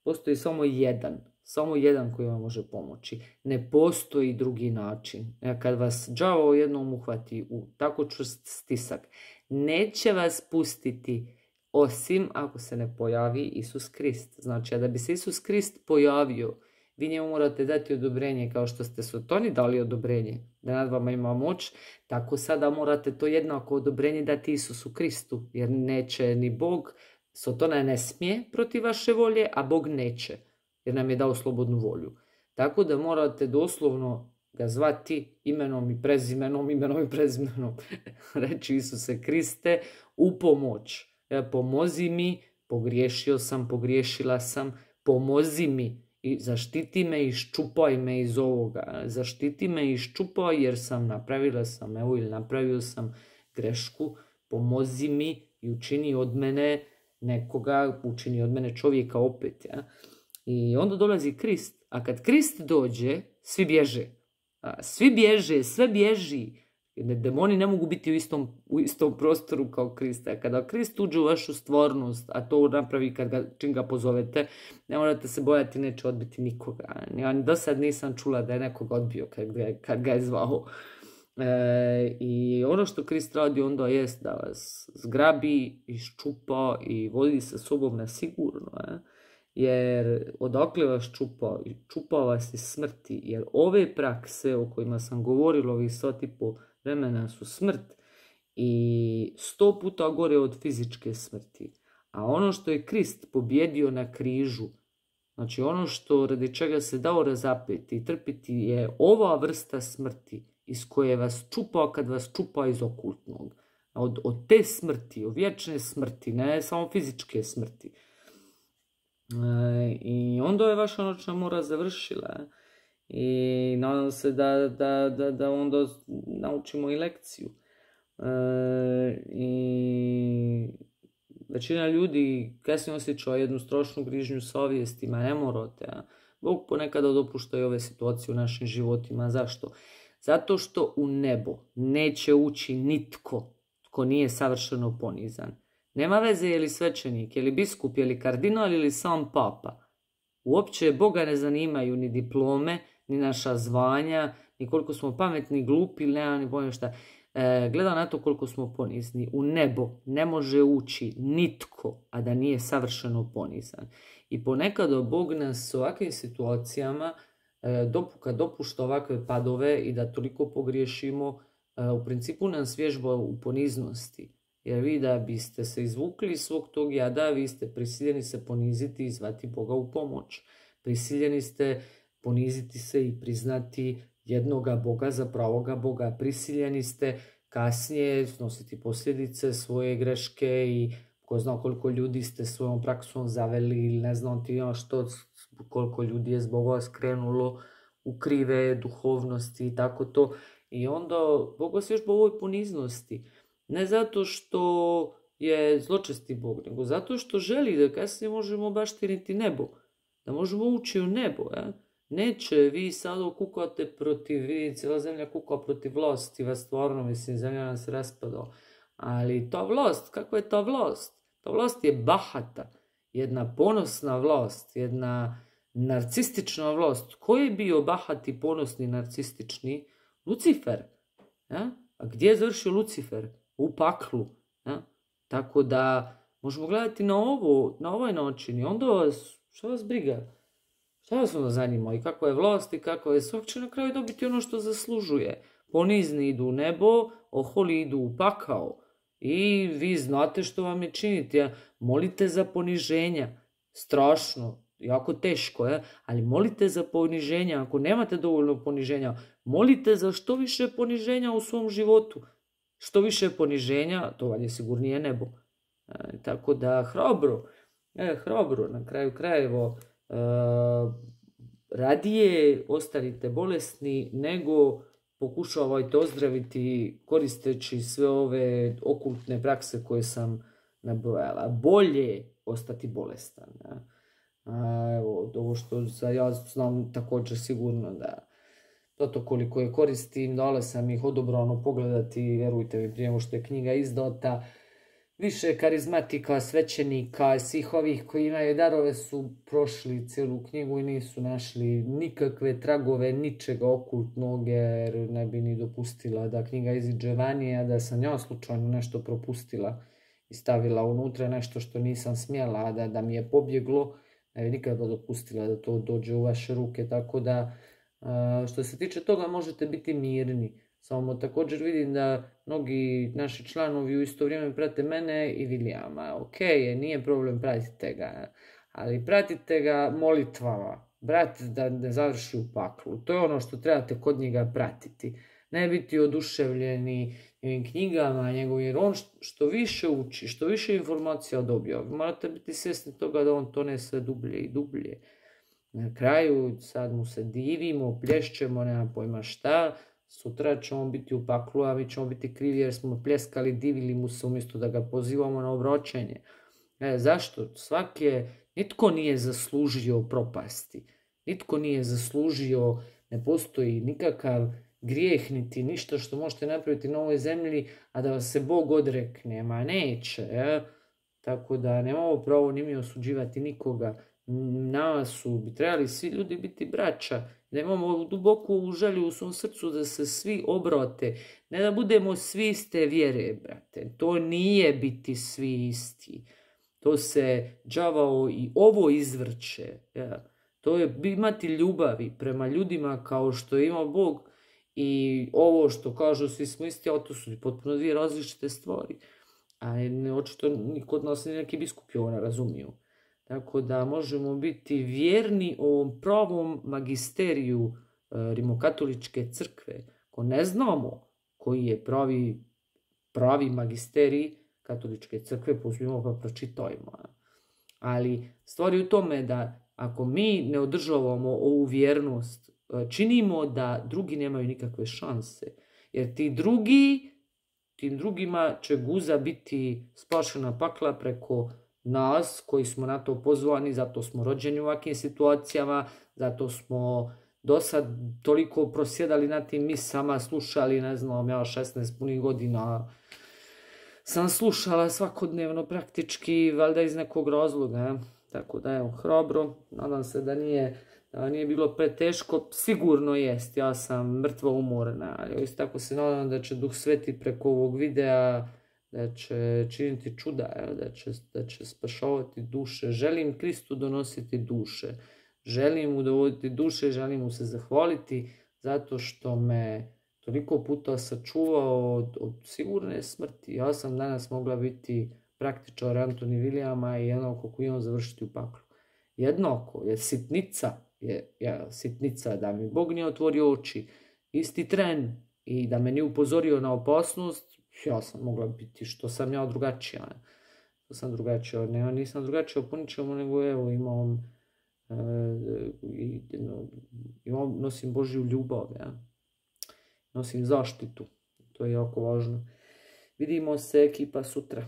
Postoji samo jedan, samo jedan koji vam može pomoći. Ne postoji drugi način. Kad vas đavo jednom uhvati u tako čvrst stisak, neće vas pustiti osim ako se ne pojavi Isus Krist. Znači, a da bi se Isus Krist pojavio, vi njemu morate dati odobrenje kao što ste Sotoni dali odobrenje da nad vama ima moć, tako sada morate to jednako odobrenje dati Isusu Kristu, jer neće ni Bog, Sotona ne smije protiv vaše volje, a Bog neće, jer nam je dao slobodnu volju. Tako da morate doslovno ga zvati imenom i prezimenom, imenom i prezimenom, reći Isuse Kriste, u pomoć. Pomozi mi, pogriješio sam, pogriješila sam, pomozi mi i zaštiti me i iščupaj me iz ovoga. Zaštiti me i iščupaj jer sam napravila sam, evo ili napravio sam grešku, pomozi mi i učini od mene nekoga, učini od mene čovjeka opet. Ja? I onda dolazi Krist, a kad Krist dođe, svi bježe. Svi bježe, sve bježi. Demoni ne mogu biti u istom, u istom prostoru kao Krista. Kada Krist uđe u vašu stvarnost, a to napravi kad ga, čim ga pozovete, ne morate se bojati, neće odbiti nikoga. Ja do sad nisam čula da je nekoga odbio kad ga, kad ga je zvao. E, I ono što Krist radi onda jest da vas zgrabi, iščupa i vodi sa sobom na sigurno. Eh? Jer odakle vas čupa? Čupa vas iz smrti. Jer ove prakse o kojima sam govorila ovih sat i po vremena su smrt i sto puta gore od fizičke smrti. A ono što je Krist pobjedio na križu, znači ono što radi čega se dao razapeti i trpiti je ova vrsta smrti iz koje vas čupa kad vas čupa iz okultnog. od, od te smrti, od vječne smrti, ne samo fizičke smrti. E, I onda je vaša noćna mora završila. I nadam se da, da, da, da onda naučimo i lekciju. E, I većina ljudi kasnije osjeća jednu strašnu grižnju savjesti, ma ne morate. A? Bog ponekada dopušta i ove situacije u našim životima. Zašto? Zato što u nebo neće ući nitko tko nije savršeno ponizan. Nema veze je li svećenik, je li biskup, je li kardinal ili sam papa. Uopće Boga ne zanimaju ni diplome, ni naša zvanja, ni koliko smo pametni, glupi, nema ni pojma šta. E, gleda na to koliko smo ponizni. U nebo ne može ući nitko, a da nije savršeno ponizan. I ponekad Bog nas u ovakvim situacijama e, dopuka, dopušta ovakve padove i da toliko pogriješimo, e, u principu nas vježba u poniznosti. Jer vi da biste se izvukli iz svog tog jada, vi ste prisiljeni se poniziti i zvati Boga u pomoć. Prisiljeni ste poniziti se i priznati jednoga Boga za pravoga Boga. Prisiljeni ste kasnije snositi posljedice svoje greške i ko zna koliko ljudi ste svojom praksom zaveli ili ne znam ti što, koliko ljudi je zbog vas krenulo u krive duhovnosti i tako to. I onda Bog vas vježba u ovoj poniznosti. Ne zato što je zločesti Bog, nego zato što želi da kasnije možemo baštiniti nebo. Da možemo ući u nebo. Ja? Neće, vi sada kukate protiv, vi cijela zemlja kuka protiv vlasti, vas stvarno, mislim, zemlja nam se raspadala. Ali ta vlast, kakva je ta vlast? Ta vlast je bahata, jedna ponosna vlast, jedna narcistična vlast. Ko je bio bahati, ponosni, narcistični? Lucifer. Ja? A gdje je završio Lucifer? U paklu. Ja? Tako da možemo gledati na ovo, na ovaj način i onda vas, što vas briga? Šta vas onda zanima? I kakva je vlast i kakva je, svak će na kraju dobiti ono što zaslužuje. Ponizni idu u nebo, oholi idu u pakao. I vi znate što vam je činiti. Ja? Molite za poniženja. Strašno, jako teško, je? Ali molite za poniženja. Ako nemate dovoljno poniženja, molite za što više poniženja u svom životu. Što više poniženja, to vam je sigurnije nebo. E, tako da, hrabro, e, hrabro, na kraju krajeva, e, radije ostanite bolesni nego pokušavajte ozdraviti koristeći sve ove okultne prakse koje sam nabrojala. Bolje ostati bolestan. Ja? A, evo, ovo što ja znam također sigurno da to koliko je koristim, dala sam ih odobrano pogledati, vjerujte mi, prije nego što je knjiga izdata. Više karizmatika, svećenika, svih ovih koji imaju darove su prošli cijelu knjigu i nisu našli nikakve tragove, ničega okultnog, jer ne bi ni dopustila da knjiga iziđe vani, a da sam ja slučajno nešto propustila i stavila unutra nešto što nisam smjela, a da, da mi je pobjeglo, ne bi nikada dopustila da to dođe u vaše ruke, tako da Uh, što se tiče toga možete biti mirni. Samo također vidim da mnogi naši članovi u isto vrijeme prate mene i Vilijama. Ok, nije problem, pratite ga. Ali pratite ga molitvama. Brat da ne završi u paklu. To je ono što trebate kod njega pratiti. Ne biti oduševljeni njegovim knjigama, njegovim, jer on što više uči, što više informacija dobija. Morate biti svjesni toga da on tone sve dublje i dublje. Na kraju sad mu se divimo, plješćemo, nema pojma šta, sutra ćemo biti u paklu, a mi ćemo biti krivi jer smo pljeskali, divili mu se umjesto da ga pozivamo na obraćanje. E, zašto? Svaki nitko nije zaslužio propasti, nitko nije zaslužio, ne postoji nikakav grijeh niti ništa što možete napraviti na ovoj zemlji, a da vas se Bog odrekne, ma neće, ja? Tako da nemamo pravo ni mi osuđivati nikoga. Nama su bi trebali svi ljudi biti braća, da imamo duboku želju u svom srcu da se svi obrate, ne da budemo svi iste vjere, brate. To nije biti svi isti. To se đavao i ovo izvrće. Ja. To je imati ljubavi prema ljudima kao što ima Bog i ovo što kažu svi smo isti, a to su potpuno dvije različite stvari. A očito niko od nas neki biskupi ovo ne razumiju. Tako da možemo biti vjerni ovom pravom magisteriju e, rimokatoličke crkve. Ko ne znamo koji je pravi pravi magisterij katoličke crkve, pozmimo pa pročitajmo. Ali stvar je u tome da ako mi ne održavamo ovu vjernost, činimo da drugi nemaju nikakve šanse. Jer ti drugi, tim drugima će guza biti spašena pakla preko nas koji smo na to pozvani, zato smo rođeni u ovakvim situacijama, zato smo do sad toliko prosjedali na tim misama, slušali, ne znam, ja šesnaest punih godina sam slušala svakodnevno praktički, valjda iz nekog razloga. Tako da evo, hrabro, nadam se da nije, da nije bilo preteško, sigurno jest, ja sam mrtvo umorna, ali isto tako se nadam da će Duh Sveti preko ovog videa, da će činiti čuda, da će, da će spašavati duše. Želim Kristu donositi duše, želim mu dovoditi duše, želim mu se zahvaliti zato što me toliko puta sačuvao od, od sigurne smrti. Ja sam danas mogla biti praktičar Antoni Vilijama i jednako koji on završiti u paklu. Jednako, jer sitnica, je, ja, sitnica da mi Bog nije otvorio oči, isti tren i da me nije upozorio na opasnost, ja sam mogla biti što sam ja drugačija. Što sam drugačija, ne, nisam drugačija po ničemu, nego evo imam, e, i, no, imam, nosim Božju ljubav, ja. Nosim zaštitu, to je jako važno. Vidimo se ekipa sutra.